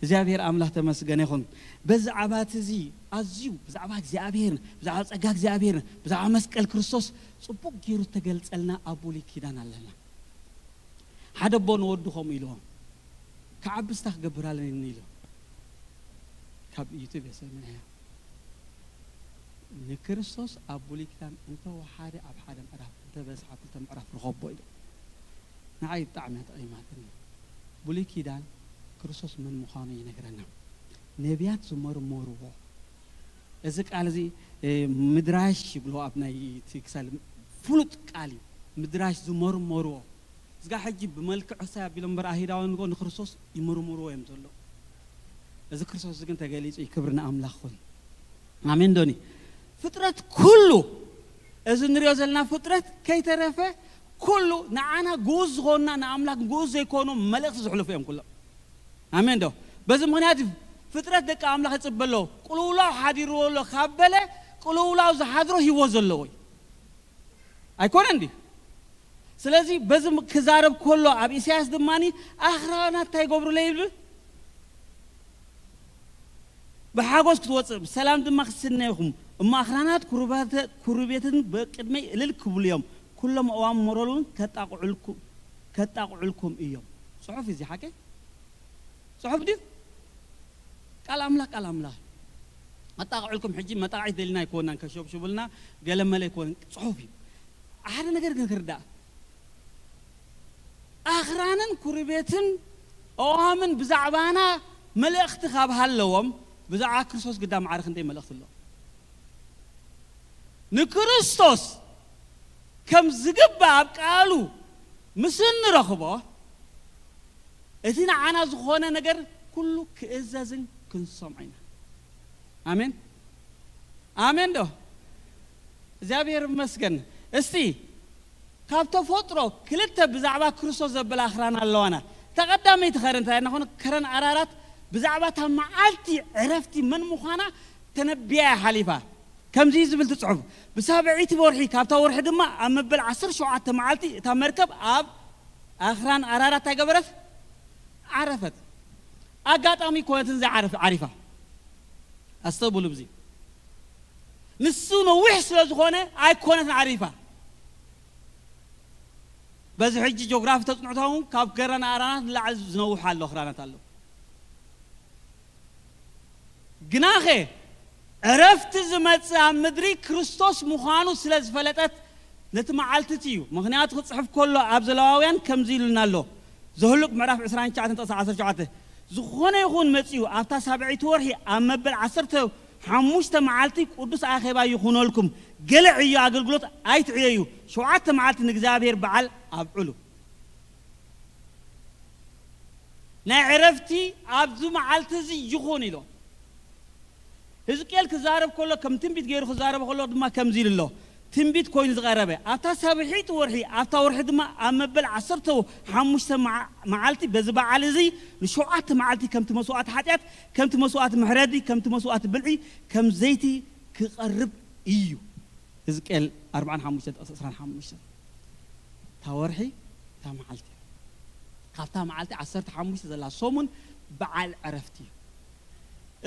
እግዚኣብሔር ኣምላኽ ተመስገነ ይኹን። በዛዕባ እቲ እዚ ኣዝዩ ብዛዕባ እግዚኣብሔር፣ ብዛዕባ ጸጋ እግዚኣብሔር፣ ብዛዕባ መስቀል ክርስቶስ ጽቡቕ ገይሩ እተገልጸልና ኣብ ብሉይ ኪዳን ኣለና። ሓደ ኣቦ ንወዱ ከምኡ ኢልዎ፣ "ክዓቢ ስታ ክገብር ኣለኒ" ኢሉ። ካብ ዩቱብ እየ ሰሚዐያ። ንክርስቶስ ኣብ ብሉይ ኪዳን እንተወሓደ ኣብ ሓደ ምዕራፍ፣ እንተበዝሓ ክልተ ምዕራፍ ርኸቦ ኢሉ። ንዓይ ብጣዕሚ እያ ጠቒማትኒ። ብሉይ ኪዳን ክርስቶስ መን ምዃኑ ይነግረና። ነቢያት ዝመርመርዎ። እዚ ቃል እዚ፣ እ፣ ምድራሽ ይብሎ ኣብ ናይ እቲ ክሳል ፍሉጥ ቃል እዩ። ምድራሽ ዝመርመርዎ። እዚጋ ሕጂ ብመልክዕ ሕሳይ ኣቢሎም እምበር ኣይሁዳውያን ንጎ ንክርስቶስ ይምርምርዎ እዮም ዘለዉ። እዚ ክርስቶስ እዚ ግን ተገሊጹ እዩ። ክብሪ ንኣምላኽ ይኹን። ኣሜን ዶኒ? ፍጥረት ኩሉ፣ እዚ ንሪኦ ዘለና ፍጥረት ከይተረፈ ኩሉ ንዓና ግኡዝ ዝኾንና ንኣምላኽ ግኡዝ ዘይኮኑ መልእኽቲ ዝሕልፉ እዮም ኩሎም። ኣሜን ዶ? በዚ ምኽንያት እዩ ፍጥረት ደቂ ኣምላኽ ይጽበ ኣሎ። ቅልውላው ሓዲርዎ ኣሎ ካብ በለ፣ ቅልውላው ዝሓድሮ ህይወት ዘለዎ እዩ። ኣይኮነን ድዩ? ስለዚ በዚ ክዛረብ ከሎ ኣብ ኢሳያስ ድማ ኣኽራናት እንታይ ይገብሩለይ ይብል? ብሓጎስ ክትወፅእ ብሰላም ድማ ክትስነይኹም እሞ ኣኽራናት ኩሩባተ- ኩሩቤትን በቅድመይ እልል ክብሉ እዮም። ኩሎም ኣእዋም መሮር እውን ከጣቕዑልኩ- ከጣቕዑልኩም እዮም። ፅሑፍ እዚ ሓቂ ፅሑፍ ድዩ? ቃል ኣምላኽ ቃል ኣምላኽ ኣጣቕዑልኩም። ሕጂ መጣቕዒት ደሊና ኣይኮናን ከሸብሽቡልና ገለመለ ኣይኮን ፅሑፍ እዩ። ሓደ ነገር ግን ክርዳእ ኣኽራንን ኩሩቤትን ኣእዋምን ብዛዕባና መልእኽቲ ካብ ሃለዎም ብዛዕባ ክርስቶስ ግዳ ማዕረ ክንደይ መልእኽቲ ኣለዎም። ንክርስቶስ ከም ዝግባእ ኣብ ቃሉ ምስ እንረኽቦ እቲ ንዓና ዝኾነ ነገር ኩሉ ክእዘዝን ክንሰምዖ ኢና። ኣሜን ኣሜን ዶ? እግዚኣብሔር ይመስገን። እስቲ ካብ ተፈጥሮ ክልተ ብዛዕባ ክርስቶስ ዘበላ ኣኽራን ኣለዋና። ተቐዳመይቲ ኸረን እንታይ ናኾነ ከረን ኣራራት ብዛዕባ እታ መዓልቲ ዕረፍቲ መን ምዃና ተነቢያ እያ ሓሊፋ። ከምዚ ዝብል ትጽሑፍ ብሳብዒቲ ወርሒ ካብታ ወርሒ ድማ ኣብ መበል ዓሰርተ ሸውዓተ መዓልቲ እታ መርከብ ኣብ ኣኽራን ኣራራት እንታይ ገበረት? ዓረፈት። ኣጋጣሚ ኮነትን ዘይዓረፍ ዓሪፋ። ኣስተብሉ ብዚ ንሱ ነዊሕ ስለ ዝኾነ ኣይኮነትን ዓሪፋ። በዚ ሕጂ ጂኦግራፊ ተፅንዕቶም ካብ ከረን ኣራናት ንላዕሊ ዝነውሑ ኣሎ ክራናት ኣሎ። ግናኸ ዕረፍቲ ዝመጽእ ኣብ ምድሪ ክርስቶስ ምዃኑ ስለ ዝፈለጠት ነቲ መዓልቲ እቲ እዩ። ምኽንያቱ ክጽሕፍ ከሎ ኣብ ዘለዋውያን ከምዚ ኢሉና ኣሎ። ዘህሉቅ ምዕራፍ ዕስራን ትሽዓተን ጥቕሲ ዓሰርተ ሸውዓተ ዝኾነ ይኹን መጺኡ ኣብታ ሳብዐይቲ ወርሒ ኣብ መበል ዓሰርተ ሓሙሽተ መዓልቲ ቅዱስ ኣኼባ ይኹነልኩም። ገለ ዕዮ ኣገልግሎት ኣይትዕየዩ። ሸውዓተ መዓልቲ ንእግዚኣብሔር በዓል ኣብዕሉ። ናይ ዕረፍቲ ኣብዚ መዓልቲ እዚ ይኹን ኢሎ። ህዝቅኤል ክዛረብ ከሎ ከም ትንቢት ገይሩ ክዛረብ ከሎ ድማ ከምዚ ኢሉ ኣሎ። ትንቢት ኮይኑ ዝቐረበ ኣብታ ሳብሒት ወርሒ ኣብታ ወርሒ ድማ ኣብ መበል ዓሰርተ ሓሙሽተ መዓ- መዓልቲ በዚ በዓል እዚ ንሸውዓተ መዓልቲ ከምቲ መስዋእቲ ሓጢኣት ከምቲ መስዋእቲ ምሕረዲ ከምቲ መስዋእቲ ብልዒ ከም ዘይቲ ክቐርብ እዩ። ህዝቅኤል ኣርብዓን ሓሙሽተን ጥቕሲ ዕስራን ሓሙሽተን። እታ ወርሒ እታ መዓልቲ እያ። ካብታ መዓልቲ ዓሰርተ ሓሙሽተ ዘላ ሰሙን በዓል ዕረፍቲ እዩ።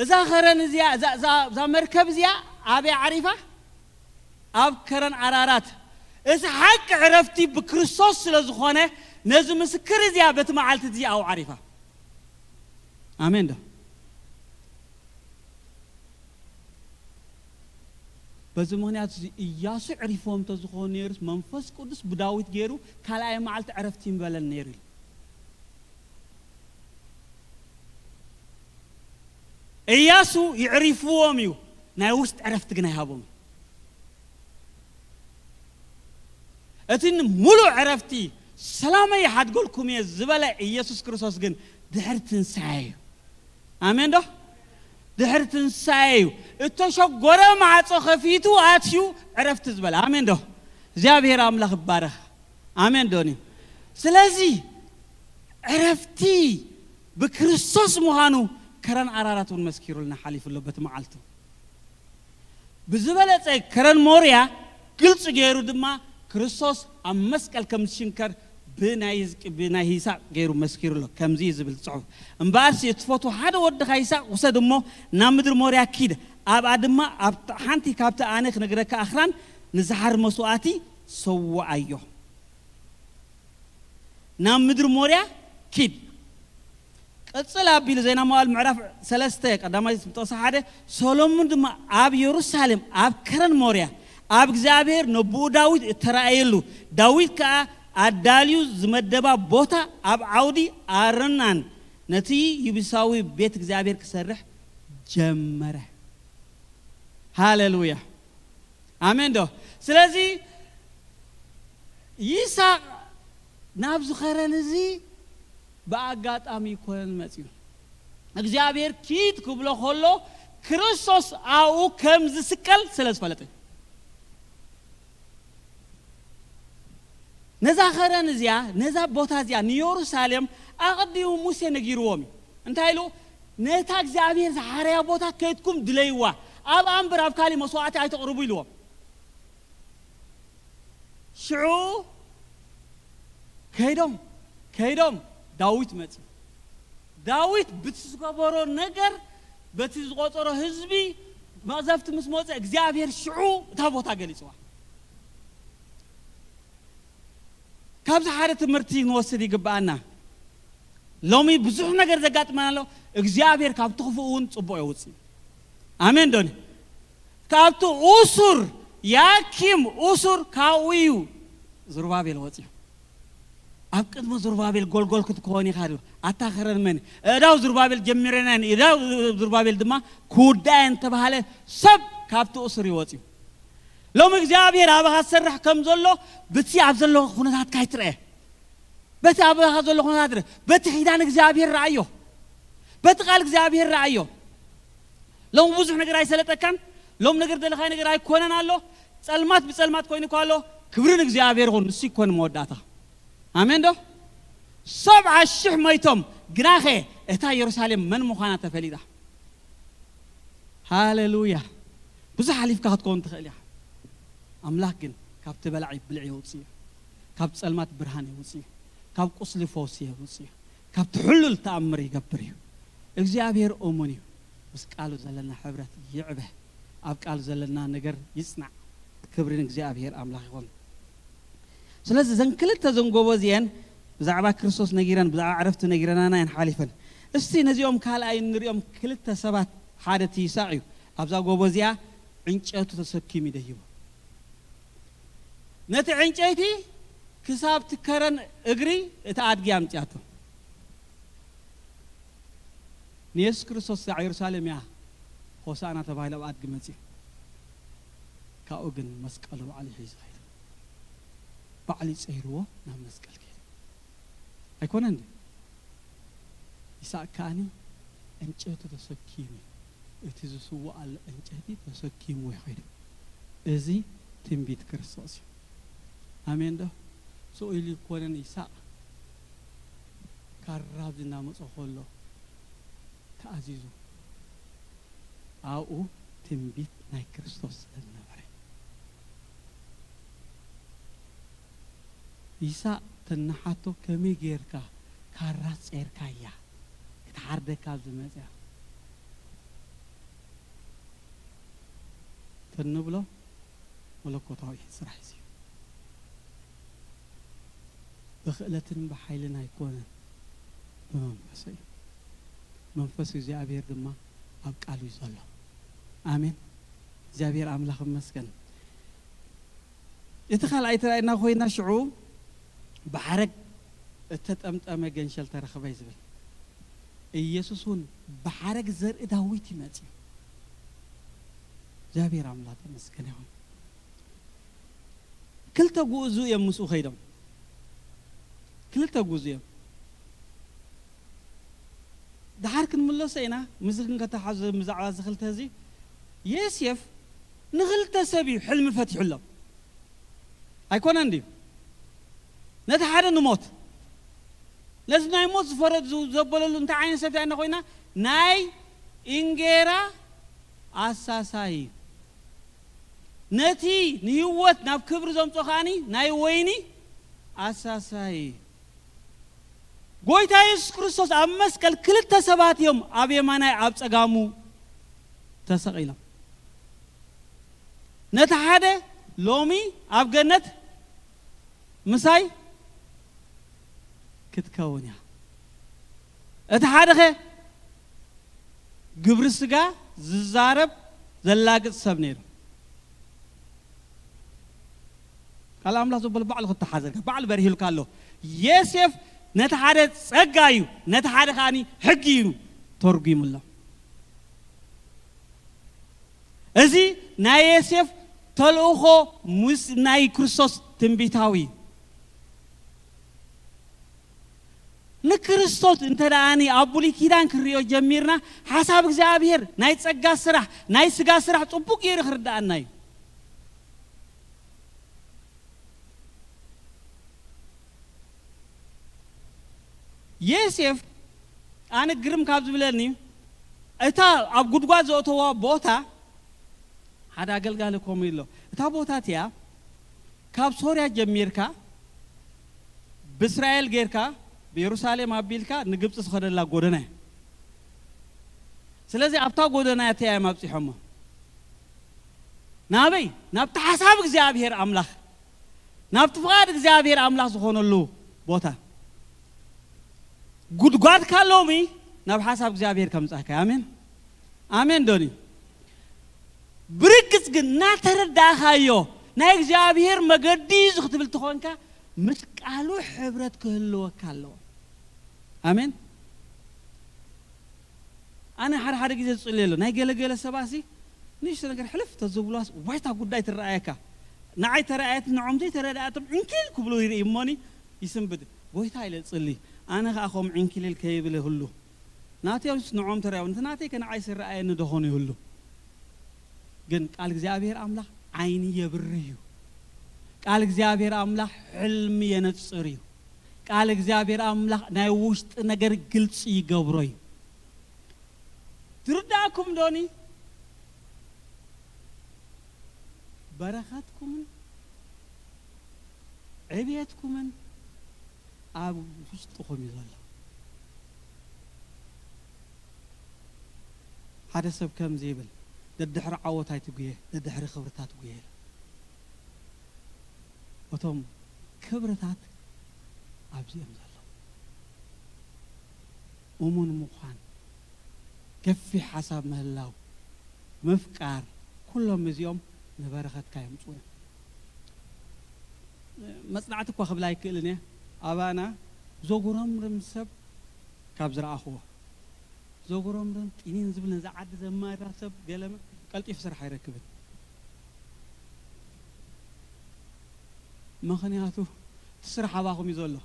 እዛ ኸረን እዚኣ እዛ- እዛ እዛ መርከብ እዚኣ ኣበይ ዓሪፋ? ኣብ ከረን ኣራራት። እዚ ሓቂ ዕረፍቲ ብክርስቶስ ስለ ዝኾነ ነዚ ምስክር እዚኣ በቲ መዓልቲ እዚ ኣብኡ ዓሪፋ። ኣሜን ዶ? በዚ ምኽንያት እዚ እያሱ ዕሪፎም እንተዝኾኑ ነይሩስ መንፈስ ቅዱስ ብዳዊት ገይሩ ካልኣይ መዓልቲ ዕረፍቲ ይምበለን ነይሩ ኢሉ። እያሱ ይዕሪፍዎም እዩ፣ ናይ ውስጥ ዕረፍቲ ግን ኣይሃቦም። እቲ ሙሉእ ዕረፍቲ ሰላመይ ይሓድገልኩም እየ ዝበለ ኢየሱስ ክርስቶስ ግን ድሕሪ ትንሳኤ እዩ። ኣሜን ዶ? ድሕሪ ትንሳኤ እዩ። እተሸጎረ ማዕጾ ከፊቱ ኣትዩ ዕረፍቲ ዝበለ። ኣሜን ዶ? እግዚኣብሔር ኣምላኽ ይባረኽ። ኣሜን ዶኒ? ስለዚ ዕረፍቲ ብክርስቶስ ምዃኑ ከረን ኣራራት እውን መስኪሩልና ሓሊፉ ኣሎ በቲ መዓልቱ። ብዝበለጸ ከረን ሞርያ ግልጺ ገይሩ ድማ ክርስቶስ ኣብ መስቀል ከም ዝሽንከር ብናይ ህዝቂ- ብናይ ይስሐቅ ገይሩ መስኪሩ ኣሎ። ከምዚ እዩ ዝብል ጽሑፍ። እምበኣርሲ እትፈትዎ ሓደ ወድኻ ይስሐቅ ውሰድ እሞ ናብ ምድሪ ሞርያ ኪድ፣ ኣብኣ ድማ ኣብ ሓንቲ ካብቲ ኣነ ክነግረካ ኣኽራን ንዝሓር መስዋእቲ ሰውኣዮ። ናብ ምድሪ ሞርያ ኪድ። ቅጽል ኣቢሉ ዜና መዋዕል ምዕራፍ ሰለስተ ቀዳማይ ጥቕሲ ሓደ ሰሎሞን ድማ ኣብ የሩሳሌም ኣብ ከረን ሞርያ ኣብ እግዚኣብሔር ነብኡ ዳዊት እተራእየሉ ዳዊት ከኣ ኣዳልዩ ዝመደባ ቦታ ኣብ ዓውዲ ኣርናን ነቲ ይቡሳዊ ቤት እግዚኣብሔር ክሰርሕ ጀመረ። ሃሌሉያ ኣሜን ዶ? ስለዚ ይስሐቅ ናብዚ ከረን እዚ ብኣጋጣሚ ይኮነን መፅዩ እግዚኣብሔር ኪድ ክብሎ ከሎ ክርስቶስ ኣብኡ ከም ዝስቀል ስለ ዝፈለጠ ነዛ ኸረን እዚኣ ነዛ ቦታ እዚኣ ንየሩሳሌም ኣቐዲሙ ሙሴ ነጊርዎም እዩ። እንታይ ኢሉ? ነታ እግዚኣብሔር ዝሓረያ ቦታ ከይድኩም ድለይዋ፣ ኣብኣ እምበር ኣብ ካሊእ መስዋዕቲ ኣይተቕርቡ ኢልዎም። ሽዑ ከይዶም ከይዶም ዳዊት መጽዩ። ዳዊት ብቲ ዝገበሮ ነገር፣ በቲ ዝቆጸሮ ህዝቢ መቕዘፍቲ ምስ መጸ እግዚኣብሔር ሽዑ እታ ቦታ ገሊጽዋ። ካብዚ ሓደ ትምህርቲ ንወስድ ይግብኣና። ሎሚ ብዙሕ ነገር ዘጋጥመና ኣሎ። እግዚኣብሔር ካብቲ ክፉእ እውን ጽቡቕ የውጽእ። ኣሜን ዶኒ? ካብቲ ኡሱር ያኪም ኡሱር ካብኡ እዩ ዝሩባቤል ወጽዩ። ኣብ ቅድሚ ዝሩባቤል ጎልጎል ክትከውን ኢኻ ድዩ? ኣታ ኸረን መን እዳው ዝሩባቤል ጀሚረናን እዳው ዝሩባቤል ድማ ክውዳእን ተባሃለ። ሰብ ካብቲ ኡሱር ይወጽዩ። ሎም እግዚኣብሔር ኣባኻ ዝሰርሕ ከም ዘሎ ብቲ ኣብ ዘሎ ኩነታትካ ይትረአ። በቲ ኣባኻ ዘሎ ኩነታት ርእ፣ በቲ ኪዳን እግዚኣብሔር ረኣዮ፣ በቲ ቃል እግዚኣብሔር ረኣዮ። ሎም ብዙሕ ነገር ኣይሰለጠካን። ሎም ነገር ደለኻይ ነገር ኣይኮነን ኣሎ። ጸልማት ብጸልማት ኮይኑ እኳ ኣሎ። ክብሪ ንእግዚኣብሔር ይኹን። ንሱ ይኮን መወዳእታ። ኣሜን ዶ? ሰብዓ ሽሕ መይቶም፣ ግናኸ እታ የሩሳሌም መን ምዃና ተፈሊጣ። ሃሌሉያ። ብዙሕ ሓሊፍካ ክትከውን ትኽእል ኢኻ። ኣምላኽ ግን ካብቲ በላዒ ብልዒ የውጽእ እዩ። ካብ ጸልማት ብርሃን የውጽእ እዩ። ካብ ቁስሊ ፈውሲ የውጽእ እዩ። ካብ ትሕሉል ተኣምር ይገብር እዩ። እግዚኣብሔር እሙን እዩ። ምስ ቃሉ ዘለና ሕብረት ይዕበ። ኣብ ቃሉ ዘለና ነገር ይጽናዕ። ክብሪ ንእግዚኣብሔር ኣምላኽ ይኹን። ስለዚ እዘን ክልተ ዘን ጎቦ እዚአን ብዛዕባ ክርስቶስ ነጊረን፣ ብዛዕባ ዕረፍቲ ነጊረናና እየን ሓሊፈን። እስቲ ነዚኦም ካልኣይ እንሪኦም ክልተ ሰባት፣ ሓደ እቲ ይሳቕ እዩ። ኣብዛ ጎቦ እዚኣ ዕንጨቱ ተሰኪሙ ይደይቡ። ነቲ ዕንጨይቲ ክሳብ ትከረን እግሪ እቲ ኣድጊ ኣምጽኣቶ። ንየሱስ ክርስቶስ ኣብ የሩሳሌም እያ ሆሳዕና ተባሂሉ ኣብ ኣድጊ መጺኡ። ካብኡ ግን መስቀሉ ባዕሉ ሒዙ ኸይዱ። ባዕሉ ጸይርዎ ናብ መስቀል ከይዱ። ኣይኮነን ድዩ? ይስሐቅ ከኣኒ ዕንጨቱ ተሰኪሙ፣ እቲ ዝስዋኣሉ ዕንጨቲ ተሰኪሙ ይኸይዱ። እዚ ትንቢት ክርስቶስ እዩ። ኣሜን ዶ? ስቕ ኢሉ ይኮነን ይስሐቅ ካራ ኣብዚ እናመጾ ከሎ ተኣዚዙ ኣብኡ ትንቢት ናይ ክርስቶስ ስለ ዝነበረ። ይስሐቅ ተናሓቶ ከመይ ጌርካ ካራ ጸይርካያ ክትሓርደካ ኣብዚ መጽያ? ተንብሎ መለኮታዊ ስራሕ እዩ። ብኽእለትን ብሓይልን ኣይኮነን፣ ብመንፈስ እዩ። መንፈስ እግዚኣብሔር ድማ ኣብ ቃሉ እዩ ዘሎ። ኣሜን። እግዚኣብሔር ኣምላኽ ይመስገን። እቲ ካልኣይ ተራእና ኮይና ሽዑ ብሓረግ እተጠምጠመ ገንሸል ተረኽበ እዩ ዝብል። ኢየሱስ እውን ብሓረግ ዘርኢ ዳዊት ይመጽእ እዩ። እግዚኣብሔር ኣምላኽ ተመስገን ይኹን። ክልተ ጉእዙ እዮም ምስኡ ከይዶም። ክልተ ጉእዙ እዮም። ደሓር ክንምለሶ ኢና። ምስዚ ክንከተሓዞ ብዛዕባ እዚ ክልተ እዚ ዮሴፍ ንክልተ ሰብ እዩ ሕልሚ ፈቲሑሎም። ኣይኮነን ድዩ? ነቲ ሓደ ንሞት፣ ነዚ ናይ ሞት ዝፈረድ ዝ-፣ ዘበለሉ እንታይ ዓይነት ሰብ ኢና ኮይና? ናይ እንጌራ ኣሳሳይ እዩ። ነቲ ንህይወት ናብ ክብሪ ዘምጾ ከኣኒ ናይ ወይኒ ኣሳሳይ እዩ። ጎይታ የሱስ ክርስቶስ ኣብ መስቀል ክልተ ሰባት እዮም ኣብ የማናይ ኣብ ጸጋሙ ተሰቒሎም። ነቲ ሓደ ሎሚ ኣብ ገነት ምሳይ ክትከውን እያ። እቲ ሓደኸ ግብሪ ስጋ ዝዛረብ ዘላግጽ ሰብ ነይሩ። ቃል ኣምላኽ ዘበሎ ባዕሉ ክተሓዘልካ፣ ባዕሉ በሪሂልካ ኣሎ። ዮሴፍ ነቲ ሓደ ጸጋ እዩ፣ ነቲ ሓደ ከኣኒ ሕጊ እዩ ተርጒምሎ። እዚ ናይ ዮሴፍ ተልእኾ ምስ ናይ ክርስቶስ ትንቢታዊ እዩ። ንክርስቶስ እንተ ደኣኒ ኣብ ብሉይ ኪዳን ክንሪኦ ጀሚርና፣ ሓሳብ እግዚኣብሔር ናይ ጸጋ ስራሕ፣ ናይ ስጋ ስራሕ ጽቡቅ ገይሩ ክርድኣና እዩ። ዮሴፍ ኣነ ግርም ካብ ዝብለኒ፣ እታ ኣብ ጉድጓድ ዘእተዋ ቦታ፣ ሓደ ኣገልጋሊ ከምኡ ኢሎ፣ እታ ቦታ እቲኣ ካብ ሶርያ ጀሚርካ ብእስራኤል ጌርካ ብየሩሳሌም ኣቢልካ ንግብፂ ዝኸደላ ጎደና እያ። ስለዚ ኣብታ ጎደና እያ እዮም ኣብፂሖሞ። ናበይ? ናብቲ ሓሳብ እግዚኣብሔር ኣምላኽ፣ ናብቲ ፍቓድ እግዚኣብሔር ኣምላኽ ዝኾነሉ ቦታ። ጉድጓድ ካሎሚ ናብ ሓሳብ እግዚኣብሔር ከምጻካ። ኣሜን፣ ኣሜን ዶኒ። ብርግጽ ግን እናተረዳእካዮ ናይ እግዚኣብሔር መገዲ እዩ ክትብል ትኾንካ፣ ምስ ቃሉ ሕብረት ክህልወካ ኣለዎ። ኣሜን። ኣነ ሓደ ሓደ ግዜ ዝጽልየሉ ናይ ገለገለ ሰባሲ ንእሽቶ ነገር ሕልፍ ተዝብሏስ ዋይታ ጉዳይ ትረኣየካ። ንዓይ ተረኣየት፣ ንዖም ዘይተረዳእቶም ዕንኪል ክብሉ ይርኢ እሞኒ ይስንብድ። ጎይታ ኢለ ጽሊ፣ ኣነ ኸኣ ኸም ዕንኪልል ከይብል ህሉ። ናተዮምስ ንዖም ተረኣዮም፣ እቲ ናተይ ከ ንዓይ ስረኣየኒ ደኾኑ ይህሉ። ግን ቃል እግዚኣብሔር ኣምላኽ ዓይኒ የብርህ እዩ። ቃል እግዚኣብሔር ኣምላኽ ሕልሚ የነጽር እዩ። ቃል እግዚኣብሔር ኣምላኽ ናይ ውሽጢ ነገር ግልጺ ይገብሮ እዩ። ትርዳእኩም ዶኒ? በረኸትኩምን ዕብየትኩምን ኣብ ውሽጥኹም እዩ ዘሎ። ሓደ ሰብ ከምዚ ይብል፣ ደድሕሪ ዓወት ኣይትጉየ፣ ደድሕሪ ክብርታት ጉየ። እቶም ክብርታት ኣብዚኦም ዘለዉ። እሙን ምዃን፣ ገፊሕ ሓሳብ ምህላው፣ ምፍቃር፣ ኩሎም እዚኦም ንበረኸትካ የምጽኡ እዮም። መጽናዕቲ እኳ ክብል ኣይክእልን እየ። ኣባና ዘጉረምርም ሰብ ካብ ዝረኣኽዎ፣ ዘጉረምርም ጢኒን ዝብል ነዚ ዓዲ ዘማራ ሰብ ገለመ ቀልጢፉ ስራሕ ኣይረክብን። ምኽንያቱ እቲ ስራሕ ኣባኹም እዩ ዘሎ።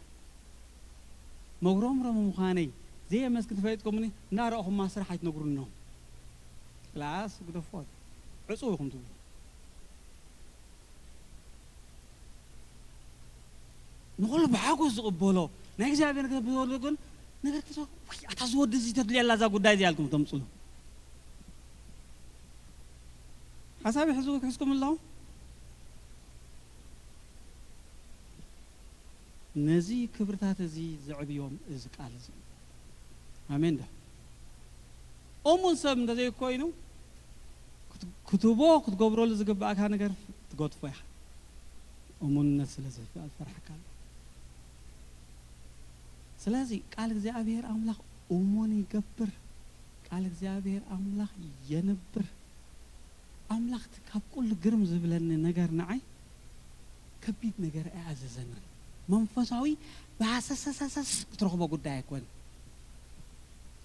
መጉረምረም ምዃነይ ዘየመስክን ተፈሊጥኩምኒ እንዳረእኹማ ስራሕ ኣይትነግሩኖም። ክላስ ግደፎት ዕጹው ኢኹም ትብሉ። ንኹሉ ብሓጎስ ዝቕበሎ ናይ እግዚኣብሔር ነገር ብዝወርዶ ግን ነገር ክሰ ወይ ኣታ ዝወዲ እዚ ተድልያ ኣላ እዛ ጉዳይ እዚ ኣልኩም ተምፅሉ። ሓሳብ ይሕዝዎ ክሕዝኩም ኣለኹም። ነዚ ክብርታት እዚ ዘዕብዮም እዚ ቃል እዚ እዩ። ኣሜን ዶ? እሙን ሰብ እንተዘይኮይኑ ክት- ክትቦ ክትገብረሉ ዝግባእካ ነገር ትገድፎ ኢኻ። እሙንነት ስለ ዝፈርሓካ ኣሎ። ስለዚ ቃል እግዚኣብሔር ኣምላኽ እሙን ይገብር። ቃል እግዚኣብሔር ኣምላኽ የንብር። ኣምላኽ እቲ ካብ ኩሉ ግርም ዝብለኒ ነገር ንዓይ ከቢድ ነገር ኣይኣዘዘናን። መንፈሳዊ ብሃሰሰሰሰስ ክትረኽቦ ጉዳይ ኣይኮን።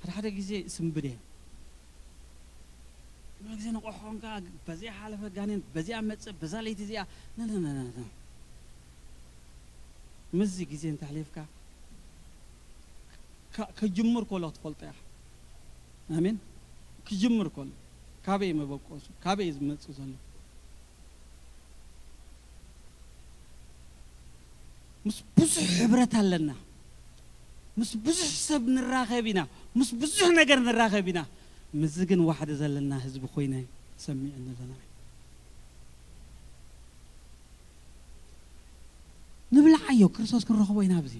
ሓደ ሓደ ግዜ ስንብድ እየ። ኩሉ ግዜ ንቑሕ ኾንካ በዚኣ ሓለፈ ጋኔን በዚኣ መጽእ በዛ ለይቲ እዚኣ ነነነነ ምስዚ ግዜ እንተሕሊፍካ ከ- ከጅምር ከሎ ክትፈልጦ ኢኻ። ኣሜን። ክጅምር ከሎ ካበይ መበቆሱ ካበይ ዝመጽእ ዘሎ ምስ ብዙሕ ሕብረት ኣለና። ምስ ብዙሕ ሰብ ንራኸብ ኢና። ምስ ብዙሕ ነገር ንራኸብ ኢና። ምስዚ ግን ዋሕዲ ዘለና ህዝቢ ኮይነ ሰሚዕኒ ኣለና። ንብልዓዮ ክርስቶስ ክንረኽቦ ኢና ኣብዚ።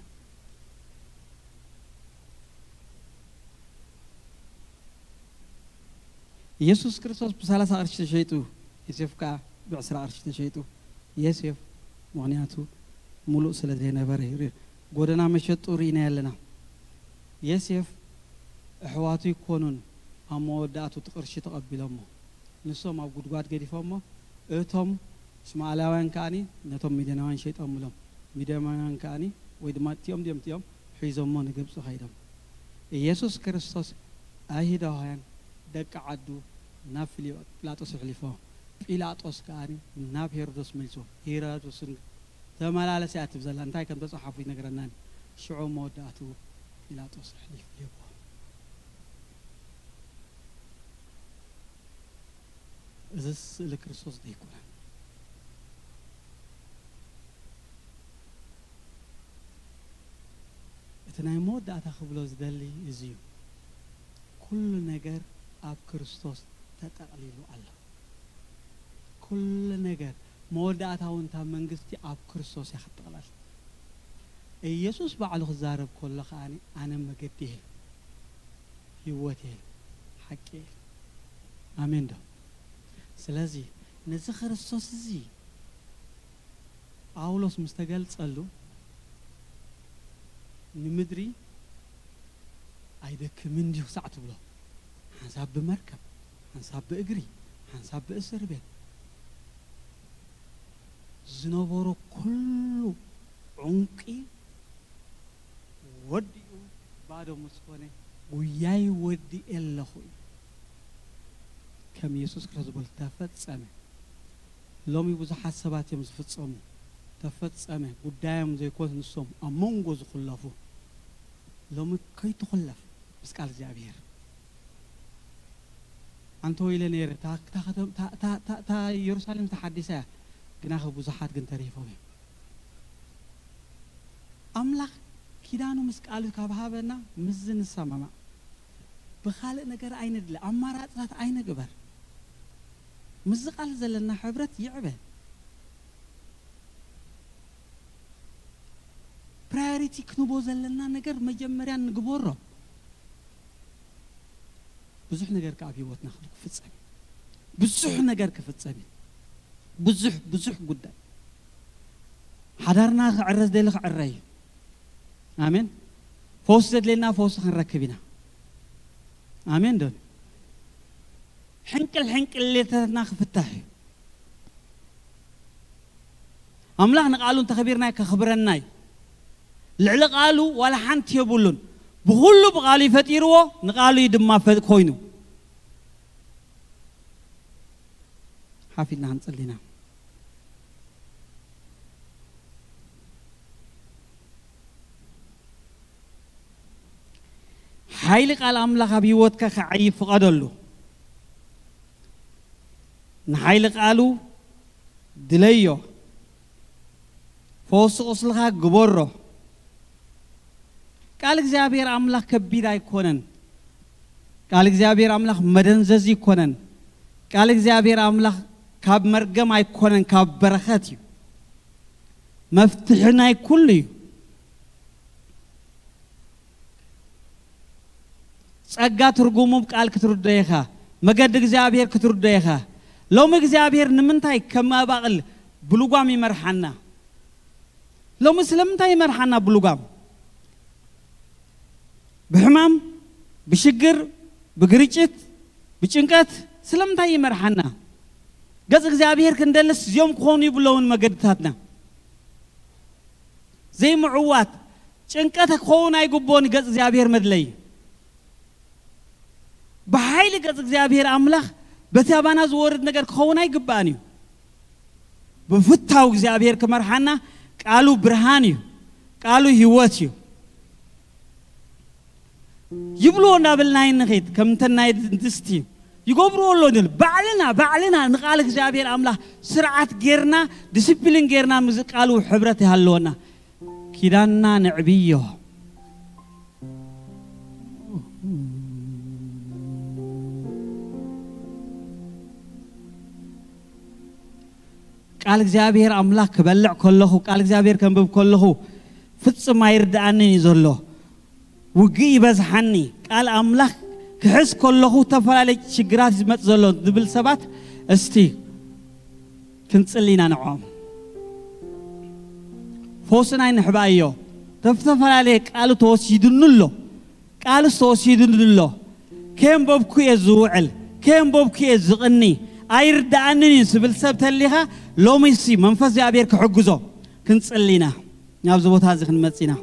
ኢየሱስ ክርስቶስ ብሰላሳ ቅርሺ ተሸይጡ፣ ዮሴፍ ከኣ ብዕስራ ቅርሺ ተሸይጡ። ዮሴፍ ምኽንያቱ ሙሉእ ስለ ዘይነበረ እዩ። ጎደና መሸጡ ርኢናዮ ኣለና። ዮሴፍ ኣሕዋቱ ይኮኑን ኣብ መወዳእቱ እቲ ቅርሺ ተቐቢሎሞ። ንሶም ኣብ ጉድጓድ ገዲፎሞ፣ እቶም እስማኤላውያን ከኣኒ ነቶም ሚድያናውያን ሸይጦምሎም። ሚድያናውያን ከኣኒ ወይ ድማ እቲኦም ድዮም እቲኦም ሒዞሞ ንግብፂ ከይዶም። ኢየሱስ ክርስቶስ ኣይሁዳውያን ደቂ ዓዱ ናብ ፊሊ- ጲላጦስ ኣሕሊፎ፣ ጲላጦስ ከኣኒ ናብ ሄሮዶስ መልሶ። ሄሮዶስን ተመላለስ እያ ትብል ዘላ እንታይ ከም ተፃሓፉ ይነግረናን። ሽዑ መወዳእቱ ጲላጦስ ኣሕሊፉ ይህቦ። እዚ ስእሊ ክርስቶስ ዶ ኣይኮነን? እቲ ናይ መወዳእታ ክብሎ ዝደሊ እዚ እዩ። ኩሉ ነገር ኣብ ክርስቶስ ተጠቕሊሉ ኣሎ። ኩሉ ነገር መወዳእታ እውን እታ መንግስቲ ኣብ ክርስቶስ እያ ክትጠቕለል። ኢየሱስ ባዕሉ ክዛረብ ከሎ ከኣ ኣነ መገዲ እየ፣ ህይወት እየ፣ ሓቂ እየ። ኣሜን ዶ? ስለዚ ነዚ ክርስቶስ እዚ ጳውሎስ ምስ ተገልጸሉ ንምድሪ ኣይደክምን እንዲሁ ክሳዕ ትብሎ፣ ሓንሳብ ብመርከብ፣ ሓንሳብ ብእግሪ፣ ሓንሳብ ብእስር ቤት ዝነበሮ ኩሉ ዑንቂ ወዲኡ ባዶ ምስ ኮነ፣ ጉያይ ወዲኤ ኣለኹ እዩ። ከም ኢየሱስ ክርስቶስ ዝበሉ ተፈጸመ። ሎሚ ብዙሓት ሰባት እዮም ዝፍጸሙ። ተፈጸመ ጉዳዮም ዘይኮኑ ንሶም ኣብ መንጎ ዝኹለፉ። ሎሚ ከይትኹለፍ ምስ ቃል እግዚኣብሔር። ኣንተ ወይለ ነይረ፣ እታ፣ እታ ከተም-፣ እታ፣ እታ፣ እታ፣ እታ ኢየሩሳሌም ተሓዲሳ እያ፣ ግናኸ ብዙሓት ግን ተሪፎም እዮም። ኣምላኽ ኪዳኑ ምስ ቃሉ ካብ ሃበና ምስዚ ንሰማማዕ። ብኻልእ ነገር ኣይንድለ፣ ኣማራፅታት ኣይንግበር። ምስዚ ቃል ዘለና ሕብረት ይዕበ። ፕራዮሪቲ ክንቦ ዘለና ነገር መጀመርያ ንግበሮ። ብዙሕ ነገር ከኣ ኣብ ህይወትና ክፍጸም እዩ። ብዙሕ ነገር ክፍጸም እዩ። ብዙሕ፣ ብዙሕ ጉዳይ። ሓዳርና ክዕረ ዝደሊ ክዕረ እዩ። ኣሜን። ፈውሲ ዘድልየና ፈውሲ ክንረክብ ኢና። ኣሜን ዶ? ሕንቅል ሕንቅል ሌልታትና ክፍታሕ እዩ። ኣምላኽ ንቃሉ እንተኸቢርና ከኽብረና እዩ። ልዕሊ ቃሉ ዋላ ሓንቲ የብሉን። ብኹሉ ብቃሉ እዩ ፈጢርዎ፣ ንቃሉ እዩ ድማ ፈ-፣ ኮይኑ። ሓፊልና ክንጽሊ ኢና። ሓይሊ ቃል ኣምላኽ ኣብ ህይወትካ ክዓይ ፍቐደሉ። ንሓይሊ ቃሉ ድለዮ። ፈውሲ ቁስልኻ ግበሮ። ቃል እግዚኣብሔር ኣምላኽ ከቢድ ኣይኮነን። ቃል እግዚኣብሔር ኣምላኽ መደንዘዚ ኣይኮነን። ቃል እግዚኣብሔር ኣምላኽ ካብ መርገም ኣይኮነን፣ ካብ በረኸት እዩ። መፍትሒ ናይ ኩሉ እዩ። ጸጋ ትርጉሙ ቃል ክትርዶ ኢኻ። መገዲ እግዚኣብሔር ክትርዶ ኢኻ። ሎሚ እግዚኣብሔር ንምንታይ ከም ኣባቕል ብልጓም ይመርሓና? ሎሚ ስለምንታይ ይመርሓና ብልጓም? ብሕማም፣ ብሽግር፣ ብግርጭት፣ ብጭንቀት ስለምንታይ ይመርሓና? ገጽ እግዚኣብሔር ክንደልስ እዚኦም ክኾኑ ይብለውን መገድታትና። ዘይምዕዋት ጭንቀት ክኸውን ኣይግብኦን። ገጽ እግዚኣብሔር መድለይ ብሓይሊ ገጽ እግዚኣብሔር ኣምላኽ በቲ ኣባና ዝወርድ ነገር ክኸውን ኣይግባእን እዩ። ብፍታው እግዚኣብሔር ክመርሓና ቃሉ ብርሃን እዩ፣ ቃሉ ህይወት እዩ። ይብልዎ እንዳበልና ይንኺድ፣ ከም እንተ ናይ ድስቲ ይገብርዎ ኣሎ ንብል። ባዕልና፣ ባዕልና ንቃል እግዚኣብሔር ኣምላኽ ስርዓት ጌርና፣ ዲስፕሊን ጌርና ምስ ቃሉ ሕብረት ይሃለወና። ኪዳንና ንዕብዮ። ቃል እግዚኣብሔር ኣምላኽ ክበልዕ ከለኹ፣ ቃል እግዚኣብሔር ከንብብ ከለኹ ፍጹም ኣይርድኣንን እዩ ዘሎ። ውግእ ይበዝሓኒ፣ ቃል ኣምላኽ ክሕዝ ከለኹ ዝተፈላለዩ ሽግራት ዝመጽእ ዘሎ ዝብል ሰባት እስቲ ክንጽሊ ኢና ንዕኦም። ፈውስና ይንሕባዮ። ተፈላለየ ቃሉ ተወሲዱኒ ኣሎ። ቃልስ ተወሲዱኒ ኣሎ። ከየንበብኩ እየ ዝውዕል፣ ከየንበብኩ እየ ዝቕኒ፣ ኣይርድኣንን እዩ ዝብል ሰብ ተሊኻ፣ ሎሚሲ መንፈስ እግዚኣብሔር ክሕግዞ ክንጽሊ ኢና። ናብዚ ቦታ እዚ ክንመጽእ ኢና።